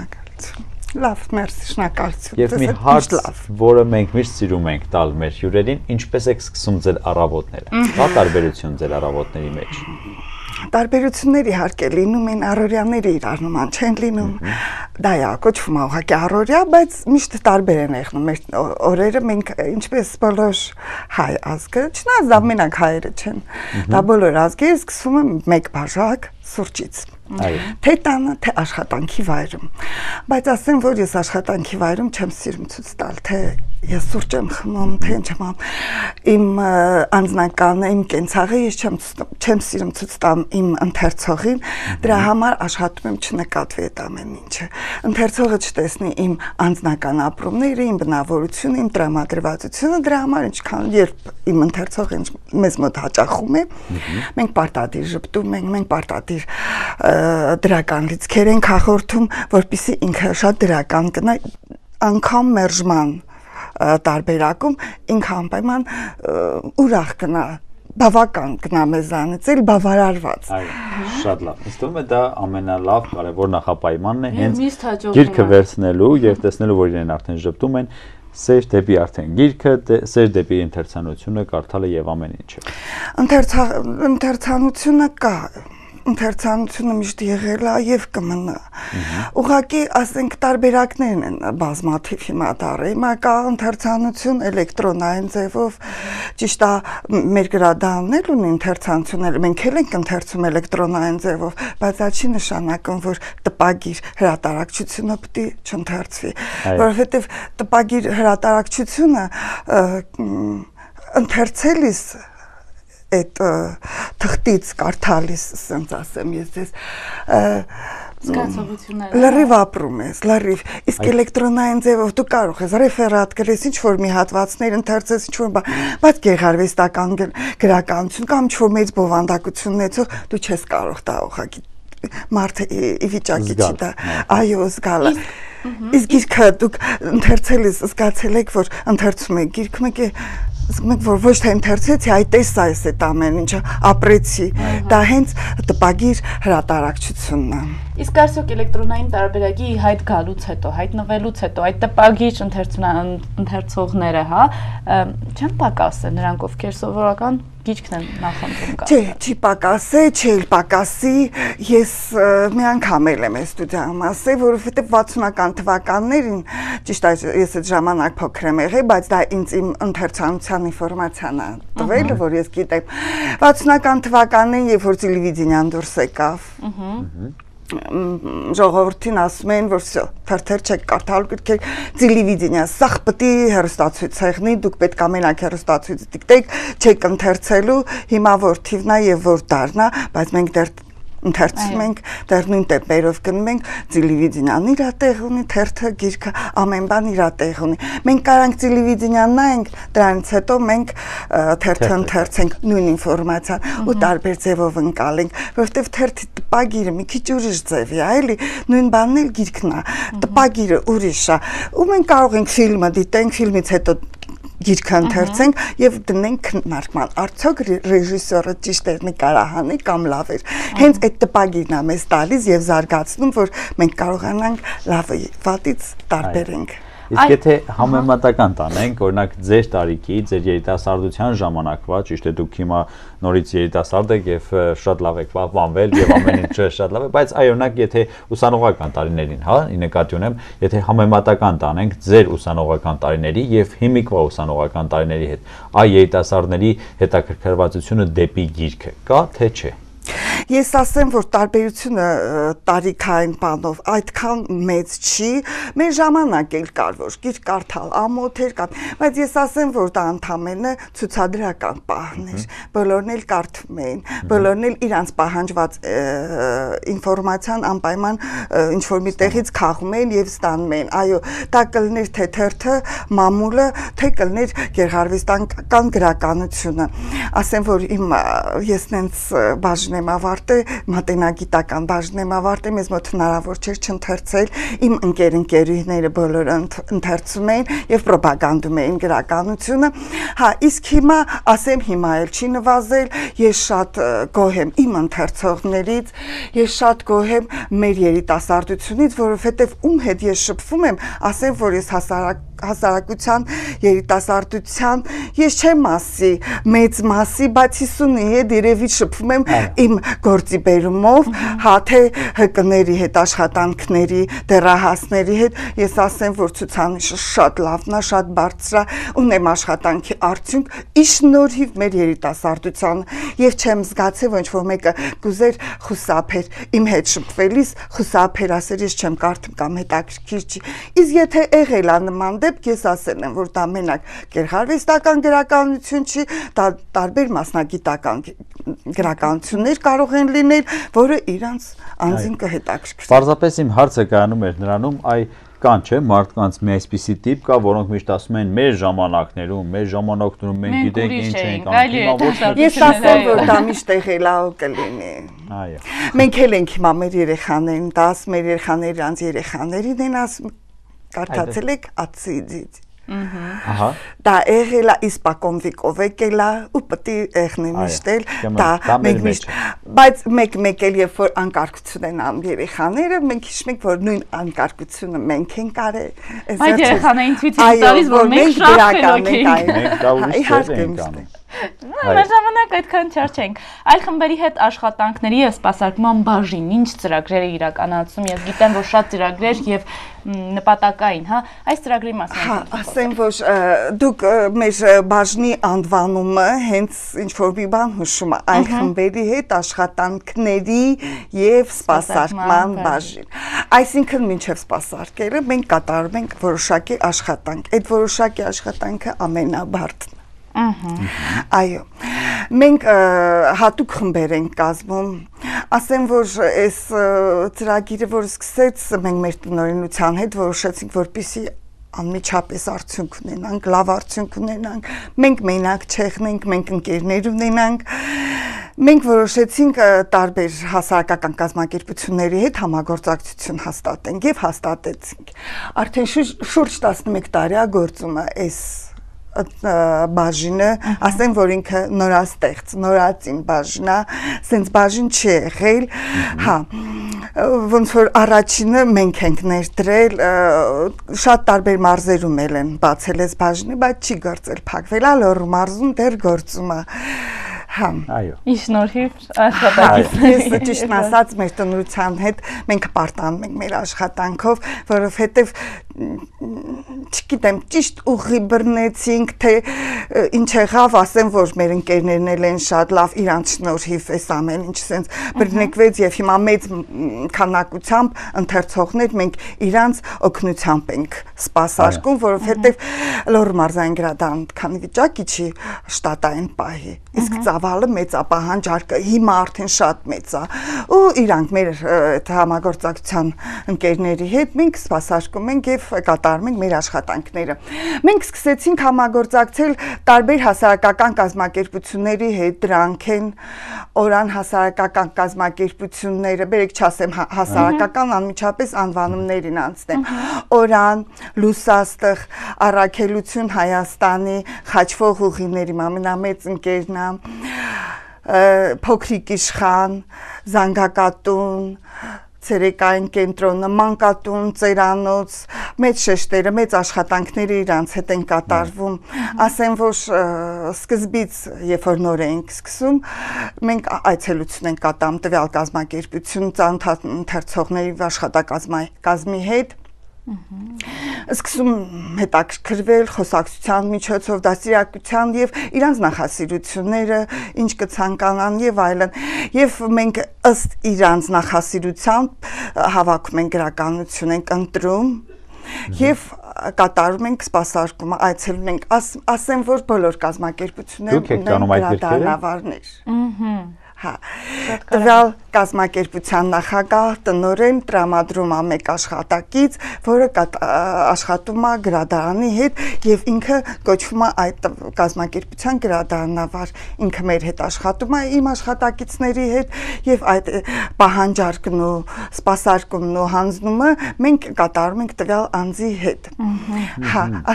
Լավ, մերսի, շնորհակալություն։ Եվ մի հարց, որը մենք միշտ սիրում ենք տալ մեր հյուրերին, ինչպես եք սկսում ձեր առավոտները։ Կա տարբերություն ձեր առավոտների մեջ։ Տարբերություններ իհարկե լինում են, առօրյաները իրար նման չեն լինում։ Դա է կոչվում ուղղակի առօրյա, բայց միշտ տարբեր են եղնում մեր օրերը, մենք ինչպես բոլոր հայ ազգը, չնայած դա մենակ հայերը չեն։ Դա բոլոր ազգերը սկսում են մեկ բաժակ սուրճից։ Թե տանը, թե աշխատանքի վայրում։ Բայց ասեմ, որ ես աշխատանքի վայրում չեմ սիրում ցույց տալ, թե ես սուրճ եմ խմում, թե ինչ եմ իմ անձնականը, իմ կենցաղը ես չեմ սիրում ցույց տամ իմ ընթերցողին, դրա համար աշխատում եմ չնկատվի այդ ամեն ինչը։ Ընթերցողը չտեսնի իմ անձնական ապրումները, իմ բնավորությունը, իմ տրամադրվածությունը, դրա համար ինչքան երբ իմ ընթերցողը մեզ մոտ հաճախում է, մենք պարտադիր ժպտում ենք, մենք պարտադիր դրական լիցքեր ենք հաղորդում, որպեսզի ինքը շատ դրական գնա, անգամ մերժման տարբերակում ինքը անպայման ուրախ գնա, բավական գնա մեզանից, էլ բավարարված։ Շատ լավ։ Ինձ թվում է դա ամենալավ կարևոր նախապայմանն է հենց գիրքը վերցնելու եւ տեսնելու, որ իրեն արդեն ժպտում են, սեր դեպի արդեն գիրքը, սեր դեպի ընթերցանությունը, կարդալը եւ ամեն ինչը։ Ընթերցանությունը կա ընթերցանությունը միշտ եղել է եւ կմնա։ Ուղղակի ասենք տարբերակներն են բազմաթիվ հիմա դարը։ Հիմա կա ընթերցանություն էլեկտրոնային ձևով, ճիշտ է, մեր գրադարաններ ունեն ընթերցանություններ, մենք էլ ենք ընթերցում էլեկտրոնային ձևով, բայց դա չի նշանակում, որ տպագիր հրատարակչությունը պետք է չընթերցվի, որովհետեւ տպագիր հրատարակչությունը ընթերցելիս այդ թղթից կարդալիս, ասենց ասեմ ես ձեզ, զգացողությունները լրիվ ապրում ես, լրիվ, իսկ էլեկտրոնային ձևով դու կարող ես ռեֆերատ գրես, ինչ-որ մի հատվածներ ընթերցես, ինչ-որ բայց գեղարվեստական գրականություն կամ ինչ-որ մեծ բովանդակություն ունեցող դու չես կարող դա ուղղակի մարդը ի վիճակի չի դա, այո, զգալը։ Իսկ գիրքը դուք ընթերցելիս զգացել եք, որ ընթերցում եք գիրքը մեկ է Մենք որ ոչ թե ընթերցեցի, այ տեսա այս այդ ամեն ինչը, ապրեցի, դա հենց տպագիր հրատարակչությունն է։ Իսկ արդյոք էլեկտրոնային տարբերակի հայտ գալուց հետո, հայտնվելուց հետո այդ տպագիր ընթերցողները, հա, չեն պակասել նրանք, ովքեր սովորական գիրքն են նախընտրում կարդալ։ Չէ, չի պակասե, չէ, պակասի, ես մի անգամ եմ ստուդիայում ասել, որովհետև 60-ական թվականներին, ճիշտ է, ես այդ ժամանակ փոքր եմ եղել, բայց դա ինձ իմ ընթերցանության ինֆորմացիան է տվել, որ ես գիտեմ 60-ական թվականներին, երբ որ տելևիզիան դուրս եկավ, ժողովրդին ասում են, որ թերթեր չեք կարդալու, գրքեր տելևիզիա, սաղ պետք է հեռուստացույց ցեղնի, դուք պետք է մենակ հեռուստացույց դիտեք, չեք ընթերցելու, հիմա որ թիվնա եւ որ դառնա, բայց մենք դեռ ընթերցում ենք, դեռ նույն տեպերով գնում ենք, տելևիզիան իր տեղ ունի, թերթը, գիրքը, ամեն բան իր տեղ ունի։ Մենք կարանք տելևիզիան նայենք, դրանից հետո մենք թերթը ընթերցենք նույն ինֆորմացիան ու տարբեր ձևով ընկալենք, որովհետև թերթի տպագիրը մի քիչ ուրիշ ձև է, էլի, նույն բանն էլ գիրքն է, տպագիրը ուրիշ է, ու մենք կարող ենք ֆիլմը դիտենք, ֆիլմից հետո գիրքը ընթերցենք եւ դնենք քննարկման։ Արդյոք ռեժիսորը ճիշտ էր նկարահանի կամ լավ էր։ Հենց այդ տպագիրն է մեզ տալիս եւ զարգացնում, որ մենք կարողանանք լավը վատից տարբերենք։ Իսկ եթե համեմատական տանենք, օրինակ ձեր տարիքի, ձեր երիտասարդության ժամանակվա, ճիշտ է դուք հիմա նորից երիտասարդ եք եւ շատ լավ եք պահպանվել եւ ամեն ինչը շատ լավ է, բայց այ օրինակ եթե ուսանողական տարիներին, հա, ի նկատի ունեմ, եթե համեմատական տանենք ձեր ուսանողական տարիների եւ հիմիկվա ուսանողական տարիների հետ, այ երիտասարդների հետաքրքրվածությունը դեպի գիրքը կա թե չէ։ Ես ասեմ, որ տարբերությունը տարիքային բանով այդքան մեծ չի, մեր ժամանակ էլ կար, որ գիրք կարդալ ամոթ էր կան, բայց ես ասեմ, որ դա ընդամենը ցուցադրական պահն էր, բոլորն էլ կարդում էին, բոլորն էլ իրանց պահանջված ինֆորմացիան անպայման ինչ-որ մի տեղից քաղում էին և ստանում էին, այո, դա կլներ թե թերթը, մամուլը, թե կլներ գեղարվեստական գրականությունը, ասեմ, որ ես նենց բաժն եմ ավարտել, մատենագիտական բաժն եմ ավարտել, մեզ մոտ հնարավոր չէր չընթերցել, իմ ընկերուհիները բոլորը ընթերցում էին և պրոպագանդում էին գրականությունը, հա, իսկ հիմա, ասեմ, հիմա էլ չի նվազել, ես շատ գոհ եմ իմ ընթերցողներից, ես շատ գոհ եմ մեր երիտասարդությունից, որովհետև ում հետ ես շփվում եմ, ասեմ, որ ես հասարակության, երիտասարդության, ես չեմ ասի, մեծ մասի, բայց 50-ի հետ երևի շփվում եմ իմ գործի բերումով, հա թե ՀԿ-ների հետ, աշխատանքների, դեռահասների հետ, ես ասեմ, որ ցուցանիշը շատ լավն է, շատ բարձր է, ունեմ աշխատանքի արդյունք, ի շնորհիվ մեր երիտասարդությանը, եւ չեմ զգացել, ոչ որ մեկը կուզեր խուսափեր, իմ հետ շփվելիս խուսափեր, ասեր, ես չեմ կարդում կամ հետաքրքիր չի, իսկ եթե եղել է նման դեպք, ես ասել եմ, որ դա մենակ գեղարվեստական գրականություն չի, դա տարբեր մասնագիտական գրականություններ կարող են լինել, որը իրանց անձին կհետաքրքրի։ Պարզապես իմ հարցը կայանում էր նրանում, կան չէ, մարդկանց մի այսպիսի տիպ կա, որոնք միշտ ասում են մեր ժամանակներում մենք գիտենք ինչ ենք անում։ Ես ասեմ, որ դա միշտ եղել է կլինի։ Այո։ Մենք էլ ենք հիմա մեր երեխաներին, դա ասում մեր երեխաները իրանց երեխաներին են ասում, կարդացել եք ացիդից։ Ահա։ Դա եղել է իսպակոն վիկով եկել է ու պետք է եղնի միշտ էլ դա մենք միշտ բայց մեկ էլ երբ որ անկարգություն են անում երեխաները մենք հիշում ենք որ նույն անկարգությունը մենք ենք արել այդ երեխաներին ցույց տալիս որ մենք գրական ենք մենք դա ուրիշ ենք անում Մեր ժամանակ այդքան չար չենք։ Այլ խմբերի հետ աշխատանքների եւ սպասարկման բաժին ինչ ծրագրեր է իրականացում։ Ես գիտեմ, որ շատ ծրագրեր եւ նպատակային, հա, այս ծրագրի մասին։ Հա, ասեմ, որ դուք մեր բաժնի անվանումը հենց ինչ որ մի բան հուշում է այլ խմբերի հետ աշխատանքների եւ սպասարկման բաժին։ Այսինքն մինչեւ սպասարկելը մենք կատարում ենք որոշակի աշխատանք։ Այդ որոշակի աշխատանքը ամենաբարձրն Այո, մենք հատուկ խմբեր ենք կազմում, ասեմ, որ այս ծրագիրը, որ սկսեց, մենք մեր տնօրինության հետ որոշեցինք, որպեսզի անմիջապես արդյունք ունենանք, լավ արդյունք ունենանք, մենք մենակ չեղնենք, մենք ընկերներ ունենանք, մենք որոշեցինք տարբեր հասարակական կազմակերպությունների հետ համագործակցություն հաստատենք և հաստատեցինք, արդեն շուրջ 11 տարի է գործում է այս բաժինը, ասեմ, որ ինքը նորաստեղծ, նորածին բաժին է, սենց բաժին չի եղել, հա, ոնց որ առաջինը մենք ենք ներդրել, շատ տարբեր մարզերում էլ են բացել այս բաժինը, բայց չի գործել, փակվել է, Լոռու մարզում դեռ գործում է, հա, ի շնորհիվ աշխատանքից ես ճիշտն ասած մեր տնօրինության հետ մենք պարտանում ենք մեր աշխատանքով, որովհետև չգիտեմ, ճիշտ ուղի բռնեցինք, թե ինչ եղավ, ասեմ, որ մեր ընկերներն էլ են շատ լավ իրանց շնորհիվ այս ամեն ինչ սենց բռնեկվեց եւ հիմա մեծ քանակությամբ ընթերցողներ մենք իրանց օգնությամբ ենք սպասարկում, որովհետեւ Լոռու մարզային գրադարան քանի վիճակի չի շտատային պահի, իսկ ծավալը մեծապահանջարկը հիմա արդեն շատ մեծ է ու իրանք մեր համագործակցության ընկերների հետ մենք սպասարկում ենք եւ կատարում ենք մեր աշխատանքները։ Մենք սկսեցինք համագործակցել տարբեր հասարակական կազմակերպությունների հետ, դրանք են Օրան հասարակական կազմակերպությունները, բերեք չասեմ հասարակական անմիջապես անվանումներին անցնեմ։ Օրան, Լուսաստղ, Առաքելություն Հայաստանի, Խաչվող ուղիների ամենամեծ ընկերն է, Փոքրիկ Իշխան, Զանգակատուն, Ցերեկային կենտրոնը, Մանկատուն, Ծերանոց, մեծ շեշտերը, մեծ աշխատանքները իրանց հետ են կատարվում, ասեմ, որ սկզբից, երբ որ նոր ենք սկսում, մենք այցելություն ենք կատարում տվյալ կազմակերպություն, ծանոթ ընթերցողների աշխատակազմի հետ, սկսում հետաքրքրվել խոսակցության միջոցով, դաստիարակության եւ իրանց նախասիրությունները, ինչ կցանկանան եւ այլն։ Եվ մենք ըստ իրանց նախասիրության հավաքում ենք գրականություն, ենք ընտրում եւ կատարում ենք սպասարկումը, այցելում ենք, ասեմ, որ բոլոր կազմակերպությունները ունեն գրադարանավարներ։ Տվյալ կազմակերպության նախագահ տնօրեն տրամադրում է մեկ աշխատակից, որը աշխատում է գրադարանի հետ եւ ինքը կոչվում է այդ կազմակերպության գրադարանավար, ինքը մեր հետ աշխատում է իմ աշխատակիցների հետ եւ այդ պահանջարկն ու սպասարկումն ու հանձնումը մենք կատարում ենք տվյալ անձի հետ։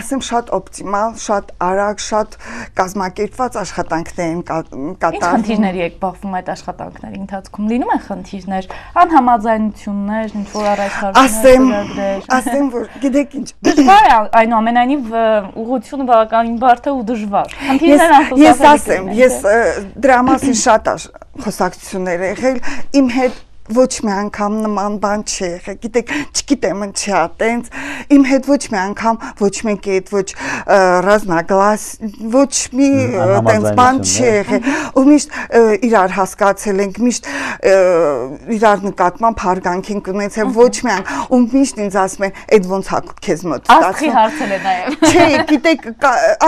Ասեմ, շատ օպտիմալ, շատ արագ, շատ կազմակերպված աշխատանքներ են կատարվում։ Ինչ խնդիրների եք բախվում այդ աշխատանքների ընթացքում, լինում են խնդիրներ, անհամաձայնություններ, ինչ որ առաջարկներ, ասեմ, որ գիտեք ինչ, դժվար է այնուամենայնիվ ուղղությունը բավականին բարդ է ու դժվար։ Խնդիրներ անխուսափելի։ Ես ասեմ, ես դրա մասին շատ խոսակցություններ եղել, իմ հետ ոչ մի անգամ նման բան չի եղել, գիտեք, չգիտեմ ինչի է տենց, իմ հետ ոչ մի անգամ ոչ մեկի հետ ոչ ռազմագլաս, ոչ մի տենց բան չի եղել, ու միշտ իրար հասկացել ենք, միշտ իրար նկատմամբ հարգանք ենք ունեցել, ոչ մի անգամ, ու միշտ ինձ ասում են, այդ ոնց է քեզ մոտ ստացվում։ Աստղի հարցել է նաև։ Չէ, գիտեք,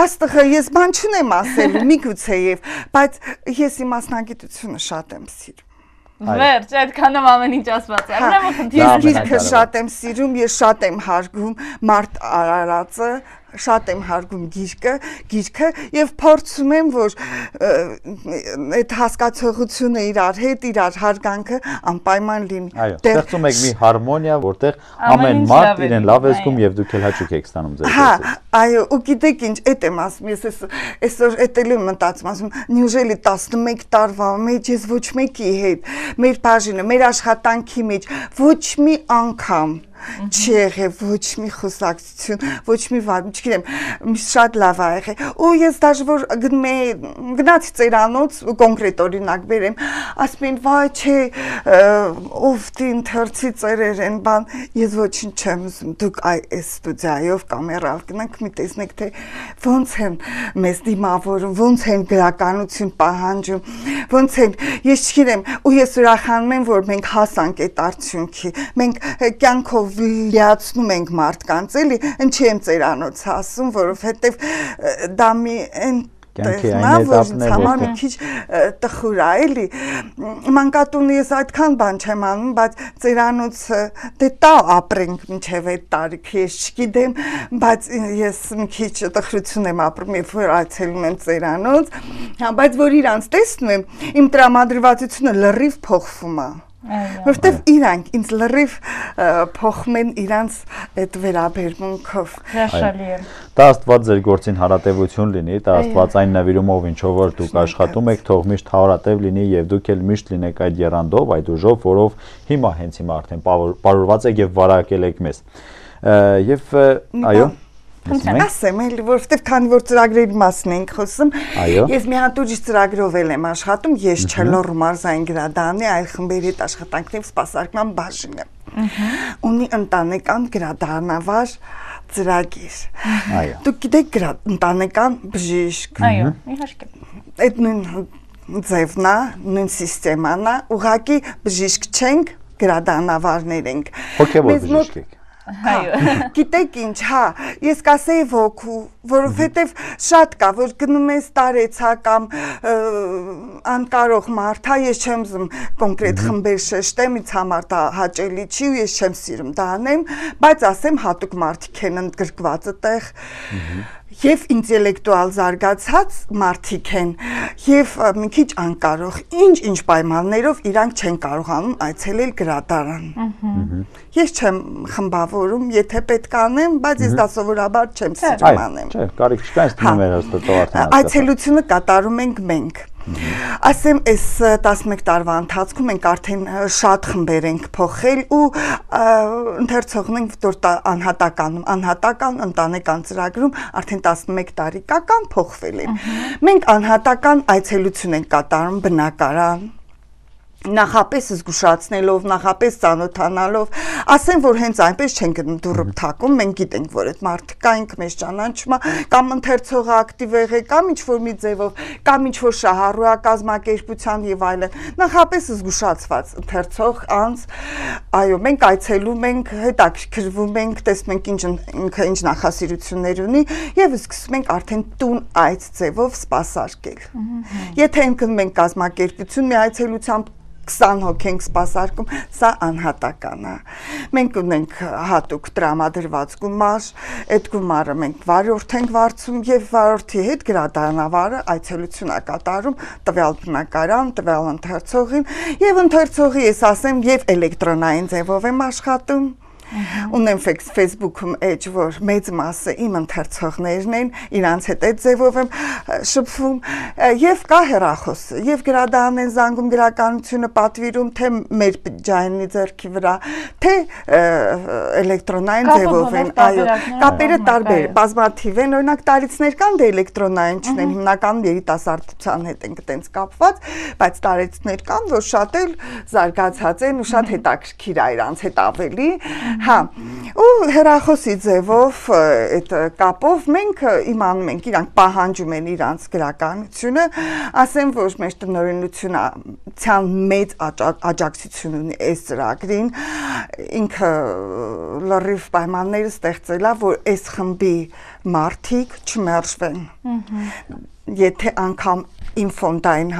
աստղը ես բան չունեմ ասել, միգուցեև, բայց ես իմ մասնագիտությունը շատ եմ սիրում։ Վերջ, այդքանով ամեն ինչ ասված է։ Ուրեմն խնդիրը ես գիրքը շատ եմ սիրում, ես շատ եմ հարգում Մարտ Արարածը, շատ եմ հարգում գիրքը եւ փորձում եմ, որ այդ հասկացողությունը իրար հետ, իրար հարգանքը անպայման լինի։ Այո, ստեղծում եք մի հարմոնիա, որտեղ ամեն մարդ իրեն լավ է զգում եւ դուք էլ հաճույք եք ստանում ձեր գործից։ Այո, ու գիտեք ինչ, այդ եմ ասում, ես այսօր էտել եմ մտածում, ասում, նյուժելի 11 տարվա մեջ ես ոչ մեկի հետ, մեր բաժինը, մեր աշխատանքի մեջ ոչ մի անգամ չի եղել ոչ մի խոսակցություն, ոչ մի վատ, չգիտեմ, շատ լավ է եղել։ Ու ես դաժե որ գնացի ծերանոց, կոնկրետ օրինակ բերեմ, ասում են, վայ, չէ, ով դին թերցի ծերեր են բան, ես ոչինչ չեմ ուզում, դուք այս ստուդիայով կամերալ գնանք, մի տեսնեք, թե ոնց են մեզ դիմավորում, ոնց են գրականություն պահանջում, ոնց են, ես չգիտեմ, ու ես ուրախանում եմ, որ մենք հասանք այդ արդյունքի, մենք կյանքով լիացնում ենք մարդկանց, էլի, ինչի եմ ծերանոց ասում, որովհետև դա մի համար մի քիչ տխուր է, էլի, մանկատունը ես այդքան բան չեմ անում, բայց ծերանոցը դե տա ապրենք մինչև այդ տարիքը, ես չգիտեմ, բայց ես մի քիչ տխրություն եմ ապրում, երբ որ այցելում եմ ծերանոց, բայց որ իրանց տեսնում եմ, իմ տրամադրվածությունը լրիվ փոխվում է։ Որտեվ իրանք ինձ լրիվ փոխում են իրանց այդ վերաբերմունքով։ Հրաշալի է։ Դա Աստված ձեր գործին հարատևություն լինի, դա Աստված այն նվիրումով ինչով որ դուք աշխատում եք, թող միշտ հարատև լինի եւ դուք էլ միշտ լինեք այդ եռանդով, այդ ուժով, որով հիմա հենց հիմա արդեն պարուրված եք եւ վարակել եք մեզ։ Եվ այո Ասեմ էլ, որովհետև քանի որ ծրագրերի մասին ենք խոսում, ես մի հատ ուրիշ ծրագրով եմ աշխատում, ես Չելոռ մարզային գրադարանի այլ խմբերի հետ աշխատանքների սպասարկման բաժինը։ Ունի ընտանեկան գրադարանավար ծրագիր։ Դուք գիտեք ընտանեկան բժիշկ։ Այո, իհարկե։ Այդ նույն ձևն է, նույն սիստեման է, ուղղակի բժիշկ չենք, գրադարանավարներ ենք։ Հոգևոր բժիշկ եք։ Գիտեք ինչ, հա, ես կասեի ոգու, որովհետև շատ կա, որ գնում ես տարեցա կամ անկարող մարդ, հա, ես չեմ զում կոնկրետ խմբեր շեշտեմ, ինձ համար դա հաճելի չի ու ես չեմ սիրում դա անեմ, բայց ասեմ հատուկ մարդիկ են ընդգրկված այդտեղ եւ ինտելեկտուալ զարգացած մարդիկ են եւ մի քիչ անկարող ինչ պայմաններով իրանք չեն կարողանում այցելել գրադարան։ Ես չեմ խմբավորում, եթե պետք անեմ, բայց ես դա սովորաբար չեմ սիրում անեմ։ Չէ, կարիք չկա, ինձ թվում է հաստատող արդեն։ Այցելությունը կատարում ենք մենք։ Ասեմ, այս 11 տարվա ընթացքում մենք արդեն շատ խմբեր ենք փոխել ու ընթերցողն ենք, որ անհատական ընտանեկան ծրագրում արդեն 11 տարեկան փոխվել են։ Մենք անհատական այցելություն ենք կատարում բնակարան, նախապես զգուշացնելով, նախապես ծանոթանալով, ասեմ, որ հենց այնպես չենք դուրը թակում, մենք գիտենք, որ այդ մարդը կա, ինքը մեզ ճանաչում է, կամ ընթերցողը ակտիվ եղե, կամ ինչ-որ մի ձևով, կամ ինչ-որ շահառու է կազմակերպության եւ այլն, նախապես զգուշացված ընթերցող անձ, այո, մենք այցելում ենք, հետաքրքրվում ենք, տեսնում ենք ինքը ինչ նախասիրություններ ունի եւ սկսում ենք արդեն տուն այց ձևով սպասարկել։ Եթե ընկնում ենք կազմակերպություն մի այցելությամբ 20 հոգ ենք սպասարկում, սա անհատական է։ Մենք ունենք հատուկ տրամադրված գումար, այդ գումարը մենք վարորդ ենք վարձում եւ վարորդի հետ գրադարանավարը այցելություն է կատարում տվյալ բնակարան, տվյալ ընթերցողին եւ ընթերցողի ես ասեմ եւ էլեկտրոնային ձևով եմ աշխատում։ Ունեմ Facebook-ում էջ, որ մեծ մասը իմ ընթերցողներն են, իրանց հետ այդ ձևով եմ շփվում եւ կա հեռախոս, եւ գրադարանն են զանգում գրականությունը պատվիրում, թե մեր ջայնի ձեռքի վրա, թե էլեկտրոնային ձևով են, այո, կապերը տարբեր, բազմաթիվ են, օրինակ տարիցներ կան, դե էլեկտրոնային չունեն, հիմնականում երիտասարդության հետ են այդպես կապված, բայց տարիցներ կան, որ շատ էլ զարգացած են ու շատ հետաքրքիր է իրանց հետ ավելի Հա, ու հեռախոսի ձևով այդ կապով մենք իմանում ենք, իրանք պահանջում են իրանց գրականությունը, ասեմ, որ մեր տնօրինության մեծ աջակցություն ունի այս ծրագրին, ինքը լրիվ պայմանները ստեղծել է, որ այս խմբի մարդիկ չմերժվեն, եթե անգամ իմ ֆոնդային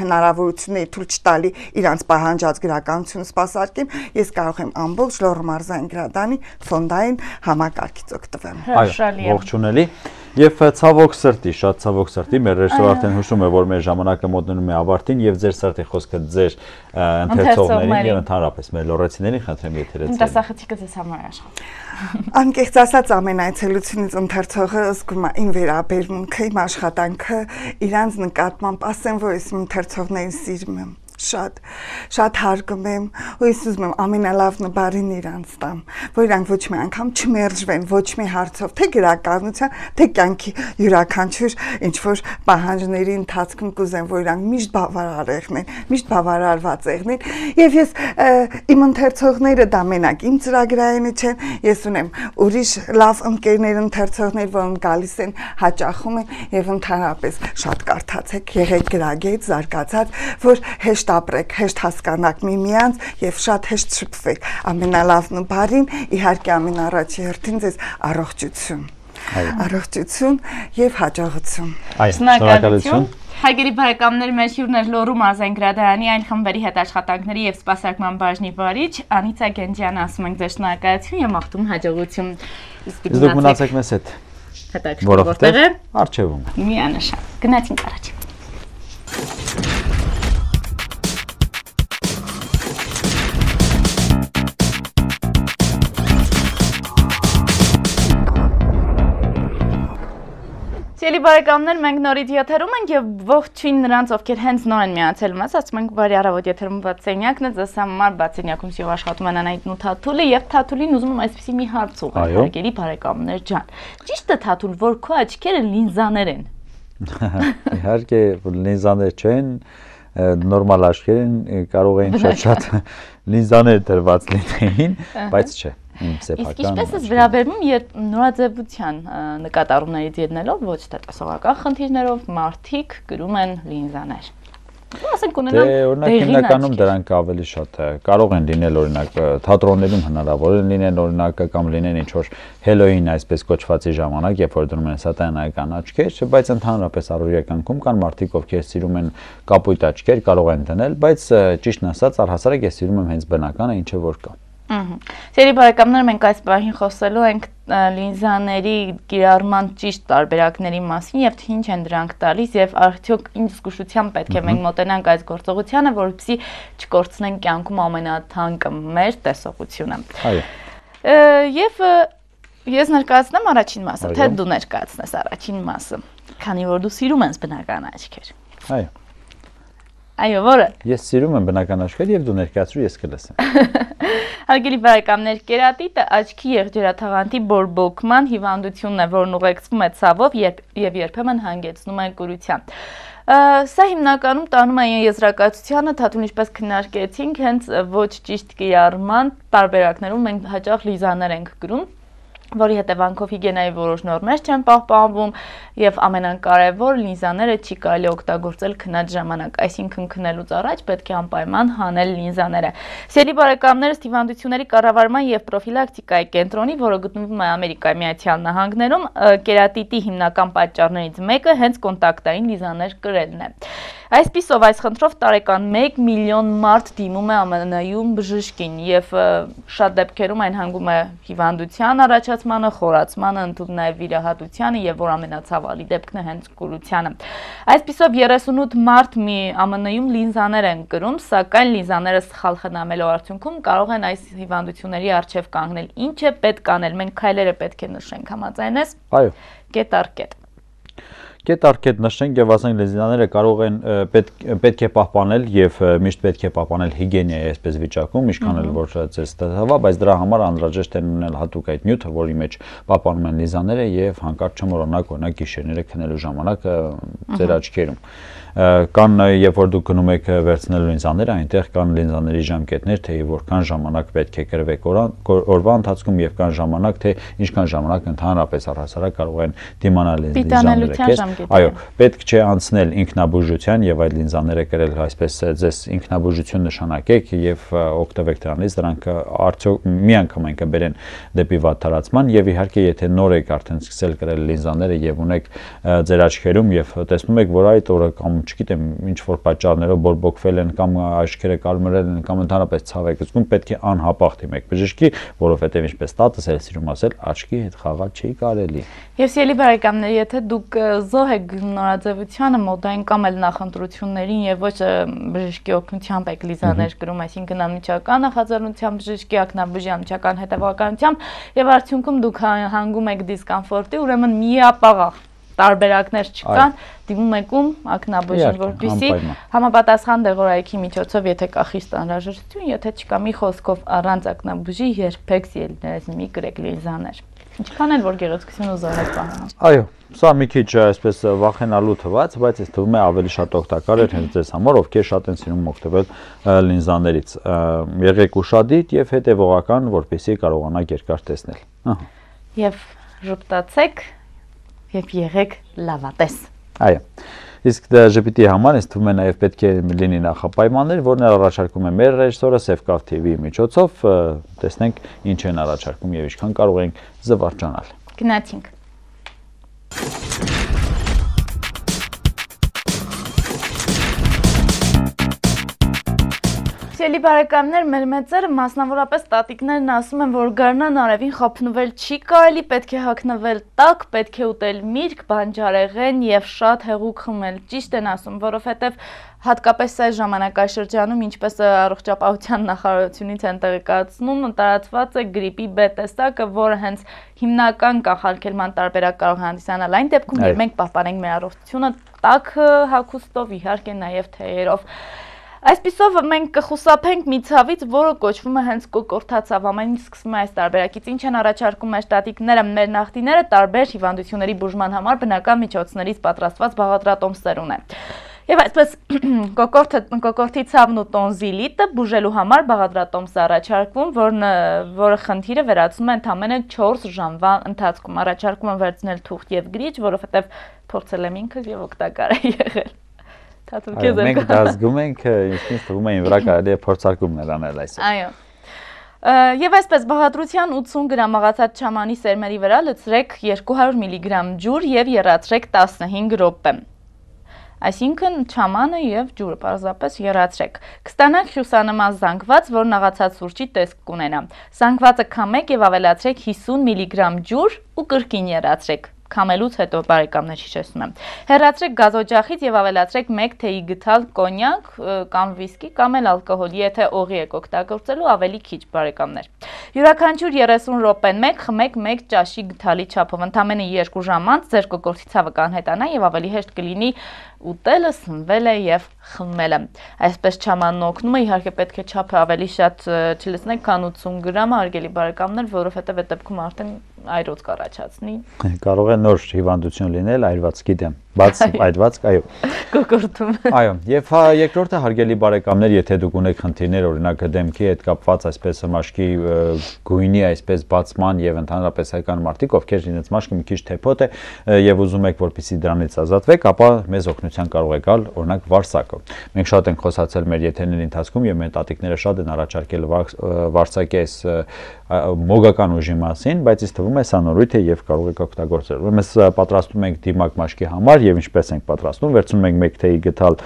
հնարավորությունների թույլ չտալի իրանց պահանջած գրականությունը սպասարկեմ, ես կարող եմ ամբողջ Լոռու մարզային գրադարանի ֆոնդային համակարգից օգտվեմ։ Այո, ողջունելի։ Եվ ցավոք սրտի, շատ ցավոք սրտի, մեր ռեժիսորը արդեն հուշում է, որ մեր ժամանակը մոտենում է ավարտին եւ ձեր սրտի խոսքը ձեր ընթերցողներին եւ ընդհանրապես մեր լոռեցիներին խնդրեմ եթերից։ Տնտեսախցիկը ձեզ համար աշխատում։ Անկեղծ ասած ամեն այցելությունից ընթերցողը զգում է իմ վերաբերմունքը, իմ աշխատանքը, իրանց նկատմամբ, ասեմ, որ ես ընթերցողներին սիրում եմ։ Շատ հարգում եմ ու ես ուզում եմ ամենալավն բարին իրանց տամ, որ իրանք ոչ մի անգամ չմերժվեն, ոչ մի հարցով, թե գրականության, թե կյանքի յուրաքանչյուր ինչ-որ պահանջների ընթացքում կուզեմ, որ իրանք միշտ բավարար եղնեն, միշտ բավարարված եղնեն եւ ես իմ ընթերցողները դա մենակ իմ ծրագրայինը չեն, ես ունեմ ուրիշ լավ ընկերներ ընթերցողներ, որոնք գալիս են, հաճախում են եւ ընդհանրապես շատ կարդացեք, եղեք գրագետ, զարգացած, որ հեշտ ապրեք, հեշտ հասկանաք միմյանց եւ շատ հեշտ շփվեք։ Ամենալավն ու բարին, իհարկե ամենառաջի հերթին ձեզ առողջություն։ Առողջություն եւ հաջողություն։ Շնորհակալություն։ Հարգելի բարեկամներ, մեր հյուրն էր Լոռու մարզային գրադարանի այն խմբերի հետ աշխատանքների եւ սպասարկման բաժնի վարիչ Անիցա Գենջյանը, ասում ենք ձեզ շնորհակալություն եւ մաղթում հաջողություն։ Իսկ դուք մնացեք մեզ հետ։ Հետաքրքիր որտեղ է։ Արջևում։ Միանշան։ Գնացինք առաջ։ Սիրելի բարեկամներ, մենք նորից եթերում ենք եւ ողջույն նրանց, ովքեր հենց նոր են միացել մեզ, ասում ենք բարի առավոտ եթերում Բացենյակն է, ձեզ համար Բացենյակում սիրով աշխատում են Անահիտն ու Թաթուլը եւ Թաթուլին ուզում եմ այսպեսի մի հարց ուղղել, հարգելի բարեկամներ ջան։ Ճիշտ է Թաթուլ, որ քո աչքերը լինզաներ են։ Իհարկե, լինզաներ չեն, նորմալ աչքեր են, կարող էին շատ լինզաներ դրված լինեին, բայց չէ։ Իսկ ինչպես է վերաբերվում նորաձևության նկատառումներից ելնելով, ոչ թե տեսողական խնդիրներով մարդիկ գրում են լինզաներ։ Ասենք ունենան օրինակ հիմնականում դրանք ավելի շատ կարող են լինել օրինակ թատրոններում հնարավոր է լինեն օրինակ կամ լինեն ինչ որ հելոին այսպես կոչվածի ժամանակ, երբ որ դնում են սատանայական աչքեր, բայց ընդհանրապես առօրյա կյանքում կան մարդիկ, ովքեր սիրում են կապույտ աչքեր, կարող են դնել, բայց ճիշտն ասած առհասարակ ես սիրում եմ հենց բնականը, ինչը որ կա։ Սիրելի բարեկամներ, մենք այս պահին խոսելու ենք լինզաների կիրառման ճիշտ տարբերակների մասին եւ թե ինչ են դրանք տալիս եւ արդյոք ինչ զգուշությամբ պետք է մենք մոտենանք այս գործողությանը, որպեսզի չկորցնենք կյանքում ամենաթանկը մեր տեսողությունը։ Այո։ Եվ ես ներկայացնեմ առաջին մասը, թե դու ներկայացնես առաջին մասը, քանի որ դու սիրում ես բնական աչքեր։ Այո։ Այո, որը։ Ես սիրում եմ բնական աչքեր եւ դու ներկայացրու, ես կլսեմ։ Հարգելի բարեկամներ, կերատիտը աչքի եղջերաթաղանթի բորբոքման հիվանդությունն է, որն ուղեկցվում է ցավով եւ երբեմն հանգեցնում է կուրության։ Սա հիմնականում տանում են եզրակացությանը, թաթուն ինչպես քննարկեցինք, հենց ոչ ճիշտ կիրառման տարբերակներում մենք հաճախ լիզաներ ենք գրում, որի հետևանքով հիգիենայի որոշ նորմեր չեն պահպանվում եւ ամենակարևոր լինզաները չի կարելի օգտագործել քնած ժամանակ, այսինքն քնելուց առաջ պետք է անպայման հանել լինզաները։ Սիրելի բարեկամներ, հիվանդությունների կառավարման եւ պրոֆիլակտիկայի կենտրոնի, որը գտնվում է Ամերիկայի Միացյալ Նահանգներում, կերատիտի հիմնական պատճառներից մեկը հենց կոնտակտային լինզաներ կրելն է։ Այսպիսով այս խնդրով տարեկան 1 միլիոն մարդ դիմում է ԱՄՆ-ում բժշկին եւ շատ դեպքերում այն հանգում է հիվանդության առաջացմանը, խորացմանը, ընդհանուր նաեւ վիրահատությանը եւ որ ամենացավալի դեպքն է հենց կուրությանը։ Այսպիսով 38 մարդ ԱՄՆ-ում լինզաներ են կրում, սակայն լինզաները սխալ խնամելու արդյունքում կարող են այս հիվանդությունների առջև կանգնել։ Ինչ է պետք անել։ Մենք քայլերը պետք է նշենք, համաձայն ես։ Այո։ Կետ առ կետ։ Կետ առ կետ նշենք եւ ասենք լինզաները կարող են պետք է պահպանել եւ միշտ պետք է պահպանել հիգիենայի այսպես վիճակում, ինչքան էլ որ ձեզ ստացվա, բայց դրա համար անհրաժեշտ է ունենալ հատուկ այդ նյութը, որի մեջ պահպանում են լինզաները եւ հանկարծ չմոռանաք օրինակ գիշերները քնելու ժամանակ ձեր աչքերում։ Կան երբ որ դուք գնում եք վերցնելու լինզաները, այնտեղ կան լինզաների ժամկետներ, թե որքան ժամանակ պետք է կրվեք օրվա ընթացքում եւ կան ժամանակ, թե ինչքան ժամանակ ընդհանրապես առհասարակ կարող են դիմանալ լինզաները։ Այո, պետք չէ անցնել ինքնաբուժության եւ այդ լինզաները կրել այսպես ձեզ ինքնաբուժություն նշանակեք եւ օգտվեք դրանից, դրանք արդյոք մի անգամ են կբերեն դեպի վատթարացման եւ իհարկե եթե նոր եք արդեն սկսել կրել լինզաները եւ ունեք ձեր աչքերում եւ տեսնում եք, որ այդ օրը կամ չգիտեմ ինչ որ պատճառներով բորբոքվել են կամ աչքերը կարմրել են կամ ընդհանրապես ցավ եք զգում, պետք է անհապաղ դիմեք բժշկի, որովհետեւ ինչպես տատս էլ սիրում ասել, աչքի հետ խաղալ չի կարելի։ Եվ սիրելի բարեկամներ, եթե դուք զոհ եք նորաձևությանը, մոդային կամ էլ նախընտրություններին եւ ոչ բժշկի օգնությամբ եք լինզաներ կրում, այսինքն անմիջական նախաձեռնությամբ բժշկի ակնաբուժի անմիջական հետևականությամբ եւ արդյունքում դուք հանգում եք դիսկոմֆորտի, ուրեմն միապաղաղ տարբերակներ չկան, դիմում եք ում ակնաբուժին, որպեսզի համապատասխան դեղորայքի միջոցով, եթե կա խիստ անհրաժեշտություն, եթե չկա մի խոսքով առանց ակնաբուժի երբեք սիրելիներս մի կրեք լինզաներ։ Ինչքան էլ որ գեղեցկություն ու զորեք պահանջ։ Այո, սա մի քիչ այսպես վախենալու թվաց, բայց ինձ թվում է ավելի շատ օգտակար էր հենց ձեզ համար, ովքեր շատ են սիրում օգտվել լինզաներից։ Եղեք ուշադիր եւ հետեւողական, որպեսզի կարողանաք երկար տեսնել։ Եվ ժպտացեք եւ եղեք լավատես։ Այո։ Իսկ ժպիտի համար ինձ թվում է նաև պետք է լինի նախապայմաններ, որն առաջարկում է մեր ռեժիսորը Սևկավ TV-ի միջոցով, տեսնենք ինչ են առաջարկում եւ ինչքան կարող ենք զվարճանալ։ Գնացինք։ Սիրելի բարեկամներ, մեր մեծերը, մասնավորապես տատիկներն ասում են, որ գարնան արևին խափնվել չի կարելի, պետք է հագնվել տաք, պետք է ուտել միրգ, բանջարեղեն եւ շատ հեղուկ խմել։ Ճիշտ են ասում, որովհետեւ հատկապես այս ժամանակաշրջանում, ինչպես առողջապահության նախարարությունից են տեղեկացնում, տարածված է գրիպի B տեսակը, որը հենց հիմնական կանխարգելման տարբերակ կարող հանդիսանալ այն դեպքում, երբ մենք պահպանենք մեր առողջությունը տաք հագուստով, իհարկե նաեւ թեյերով։ Այսպիսով մենք կխուսափենք մի ցավից, որը կոչվում է հենց կոկորտացավ, ամեն ինչ սկսվում է այս տարբերակից, ինչ են առաջարկում մեր տատիկները, մեր նախնիները, տարբեր հիվանդությունների բուժման համար բնական միջոցներից պատրաստված բաղադրատոմսեր ունեն։ Եվ այսպես կոկորտի ցավն ու տոնզիլիտը բուժելու համար բաղադրատոմս է առաջարկվում, որը խնդիրը վերացնում է ընդամենը 4 ժամվա ընթացքում, առաջարկում են վերցնել թուղթ եւ գրիչ, որովհետեւ փորձել եմ ինքս եւ օգտակար է եղել։ Մենք դա զգում ենք, ինձ թվում է վրա կարելի է փորձարկումներ անել այսօր։ Այո։ Եվ այսպես բաղադրության 80 գրամ աղացած չամանի սերմերի վրա լցրեք 200 միլիգրամ ջուր եւ եռացրեք 15 րոպե։ Այսինքն չամանը եւ ջուրը պարզապես եռացրեք։ Կստանաք հյուսանման զանգված, որն աղացած սուրճի տեսք կունենա։ Զանգվածը քամեք եւ ավելացրեք 50 միլիգրամ ջուր ու կրկին եռացրեք։ Քամելուց հետո բարեկամներ հիշեցնում եմ։ Հեռացրեք գազօջախից եւ ավելացրեք 1 թեյի գթալ կոնյակ կամ վիսկի կամ էլ ալկոհոլ, եթե օղի եք օգտագործելու ավելի քիչ բարեկամներ։ Յուրաքանչյուր 30 րոպեն մեկ խմեք 1 ճաշի գթալի չափով, ընդամենը 2 ժամ անց ձեր կոկորտի ցավը կանհետանա եւ ավելի հեշտ կլինի ուտելը, սնվելը եւ խմելը։ Այսպես չամանն օգնում է, իհարկե պետք է չափը ավելի շատ չլցնեք, քան 80 գրամ, հարգելի բարեկամներ, որովհետեւ այդ դեպքում արդեն այրոց կառաջացնի։ Կարող է նոր հիվանդություն լինել այրվածքի դեմ։ բաց այդված, այո։ Կոկորտում։ Այո, եւ երկրորդը հարգելի բարեկամներ, եթե դուք ունեք խնդիրներ, օրինակ դեմքի հետ կապված այսպես մաշկի գույնի այսպես բացման եւ ընդհանրապես հայկական մարդիկ, ովքեր իրենց մաշկը մի քիչ թեփոտ է եւ ուզում եք որպեսզի դրանից ազատվեք, ապա մեզ օգնության կարող է գալ օրինակ վարսակը։ Մենք շատ ենք խոսացել մեր եթերների ընթացքում եւ մեր տատիկները շատ են առաջարկել վարսակի այս մոգական ուժի մասին, բայց ինձ թվում է սա նորույթ է եւ կարող եք օգտագործել։ Ուրեմն պատրաստում ենք դիմակ մաշկի համար եւ ինչպես ենք պատրաստում, վերցնում ենք 1 թեյի գթալ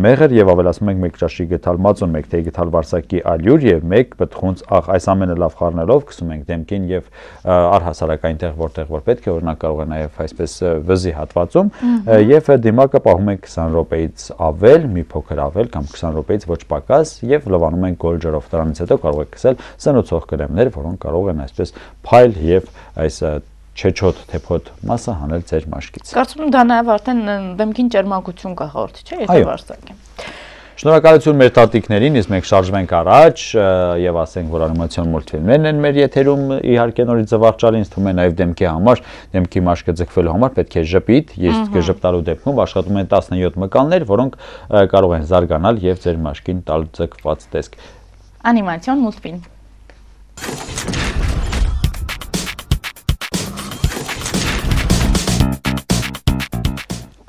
մեղր եւ ավելացնում ենք 1 ճաշի գթալ մածուն, 1 թեյի գթալ վարսակի ալյուր եւ 1 պտխունց աղ։ Այս ամենը լավ խառնելով գցում ենք դեմքին եւ առհասարակ այնտեղ որտեղ որ պետք է, օրինակ կարող է նաեւ այսպես վզի հատվածում եւ դիմակը պահում ենք 20 րոպեից ավել, մի փոքր ավել կամ 20 րոպեից ոչ պակաս եւ լվանում ենք գոլ ջրով։ Դրանից հետո կարող եք քսել սնուցող կրեմներ, որոնք կարող են այսպես փայլ եւ այս չեչոտ թեփոտ մասը հանել ձեր մաշկից։ Կարծում եմ դա նաեւ արդեն դեմքին ճերմակություն կախորդ, չէ՞, եթե վարսակ է։ Շնորհակալություն մեր տատիկներին, իսկ մենք շարժվենք առաջ եւ ասենք, որ անիմացիոն մուլտֆիլմերն են մեր եթերում իհարկե նորից զվարճալի, ինձ թվում է նաեւ դեմքի համար, դեմքի մաշկը ձգվելու համար պետք է ժպիտ, իսկ ժպտալու դեպքում աշխատում են 17 մկաններ, որոնք կարող են զարգանալ եւ ձեր մաշկին տալ ձգված տեսք։ Անիմացիոն մուլտֆիլմ։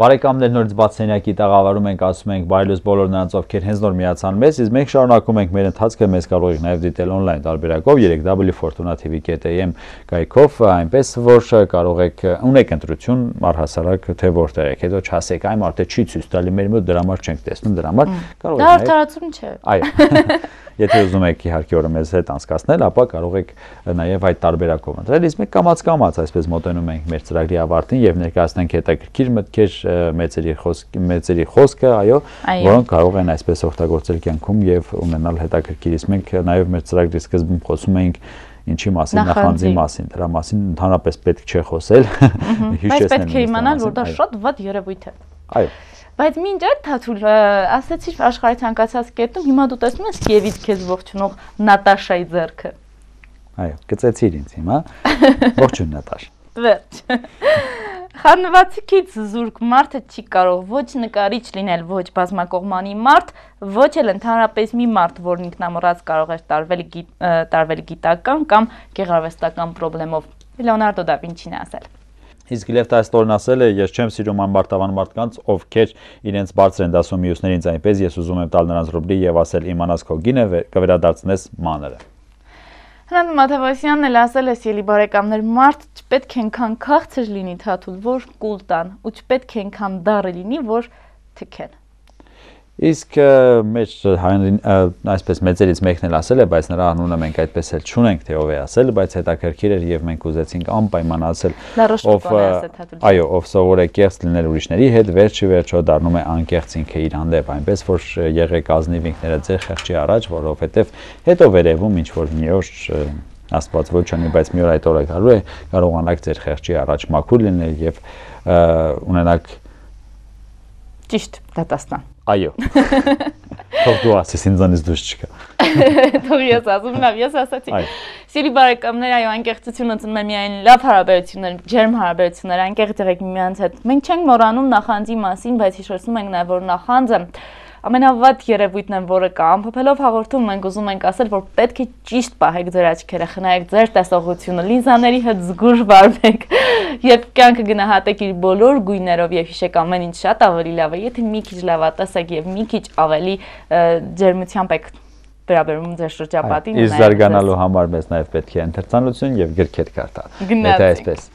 Բարեկամներ, նորից բաց սենյակի տաղավարում ենք, ասում ենք բարելույս բոլոր նրանց, ովքեր հենց նոր միացան մեզ, իսկ մենք շարունակում ենք մեր ընթացքը, մեզ կարող եք նաև դիտել on-line տարբերակով 3w.fortuna.tv.am կայքով, այնպես որ կարող եք ունեք ընտրություն առհասարակ թե որտեղ եք, հետո չասեք այ մարդը չի ցույց տալի մեր մոտ, դրա համար չենք տեսնում, դրա համար կարող եք։ Դա արդարացում չէ։ Այո։ Եթե ուզում եք իհարկե օրը մեզ հետ անցկացնել, ապա կարող եք նաև այդ տարբերակով ընտրել, իսկ մենք կամաց այսպես մոտենում ենք մեր ծրագրի ավարտին եւ ներկայացնենք հետաքրքիր մտքեր մեծերի խոսքը, այո, որոնք կարող են այսպես օգտագործել կյանքում եւ ունենալ հետաքրքիր, իսկ մենք նաև մեր ծրագրի սկզբում խոսում էինք ինչի մասին, նախանձի մասին, դրա մասին ընդհանրապես պետք չէ խոսել, հիշեցնել։ Բայց պետք է իմանալ, որ դա շատ վատ երևույթ է։ Այո։ Բայց մինչ այդ Թաթուլ ասացիր աշխարհի ցանկացած կետում, հիմա դու տեսնում ես Կիևից քեզ ողջունող Նատաշայի ձեռքը։ Այո, գծեցիր ինձ հիմա։ Ողջույն Նատաշ։ Վերջ։ Խառնվածքից զուրկ մարդը չի կարող ոչ նկարիչ լինել, ոչ բազմակողմանի մարդ, ոչ էլ ընդհանրապես մի մարդ, որն ինքնամոռաց կարող է տարվել գիտական կամ գեղարվեստական խնդրով։ Լեոնարդո դա Վինչին է ասել։ Իսկ Լև Տոլստոյն ասել է, ես չեմ սիրում անբարտավան մարդկանց, ովքեր իրենց բարձր են դասում մյուսներից, այնպես ես ուզում եմ տալ նրանց ռուբլի եւ ասել իմանաս քո գինը կվերադարձնես մանրը։ Հրանտ Մաթևոսյանն էլ ասել է, սիրելի բարեկամներ, մարդ չպետք է այնքան քաղցր լինի Թաթուլ, որ կուլ տան, ու չպետք է այնքան դառը լինի, որ թքեն։ Իսկ մեջ այսպես մեծերից մեկն էլ ասել է, բայց նրա անունը մենք այդպես էլ չունենք, թե ով է ասել, բայց հետաքրքիր էր եւ մենք ուզեցինք անպայման ասել, այո, ով սովոր է կեղծ լինել ուրիշների հետ, վերջը դառնում է անկեղծ ինքը իր հանդեպ, այնպես որ եղեք ազնիվ ինքներդ ձեր խեղճի առաջ, որովհետեւ հետո վերևում ինչ որ մի օր Աստված ոչ ունի, բայց մի օր այդ օրը գալու է, կարողանաք ձեր խեղճի առաջ մաքուր լինել եւ ունենաք ճիշտ դատաստան։ Այո։ Թող դու ասես, ինձանից դուրս չկա։ Թող ես ասում, լավ, ես ասացի։ Սիրելի բարեկամներ, այո, անկեղծությունը ծնում է միայն լավ հարաբերություններ, ջերմ հարաբերություններ, անկեղծ եղեք միմյանց հետ։ Մենք չենք մոռանում նախանձի մասին, բայց հիշեցնում ենք նաև, որ նախանձը ամենավատ երևույթն է, որը կա։ Ամփոփելով հաղորդում մենք ուզում ենք ասել, որ պետք է ճիշտ պահեք ձեր աչքերը, խնայեք ձեր տեսողությունը, լինզաների հետ զգույշ վարվեք, երբ կյանքը գնահատեք իր բոլոր գույներով եւ հիշեք ամեն ինչ շատ ավելի լավ է, եթե մի քիչ լավատեսեք եւ մի քիչ ավելի ջերմությամբ եք վերաբերում ձեր շրջապատին։ Իսկ զարգանալու համար մեզ նաեւ պետք է ընթերցանություն եւ գրքեր կարդալ։ Եթե այսպես։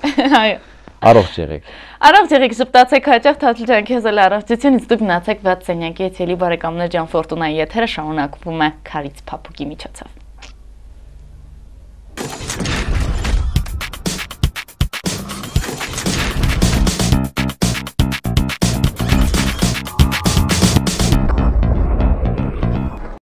Այո։ Առողջ եղեք։ Առողջ եղեք, շփտացեք հաճախ Թաթուլ ջան, քեզ էլ առողջությունից դուք մնացեք բաց սենյակի, էլի բարեկամներ ջան, Ֆորտունայի եթերը շարունակվում է Քարից Փափուկի միջոցով։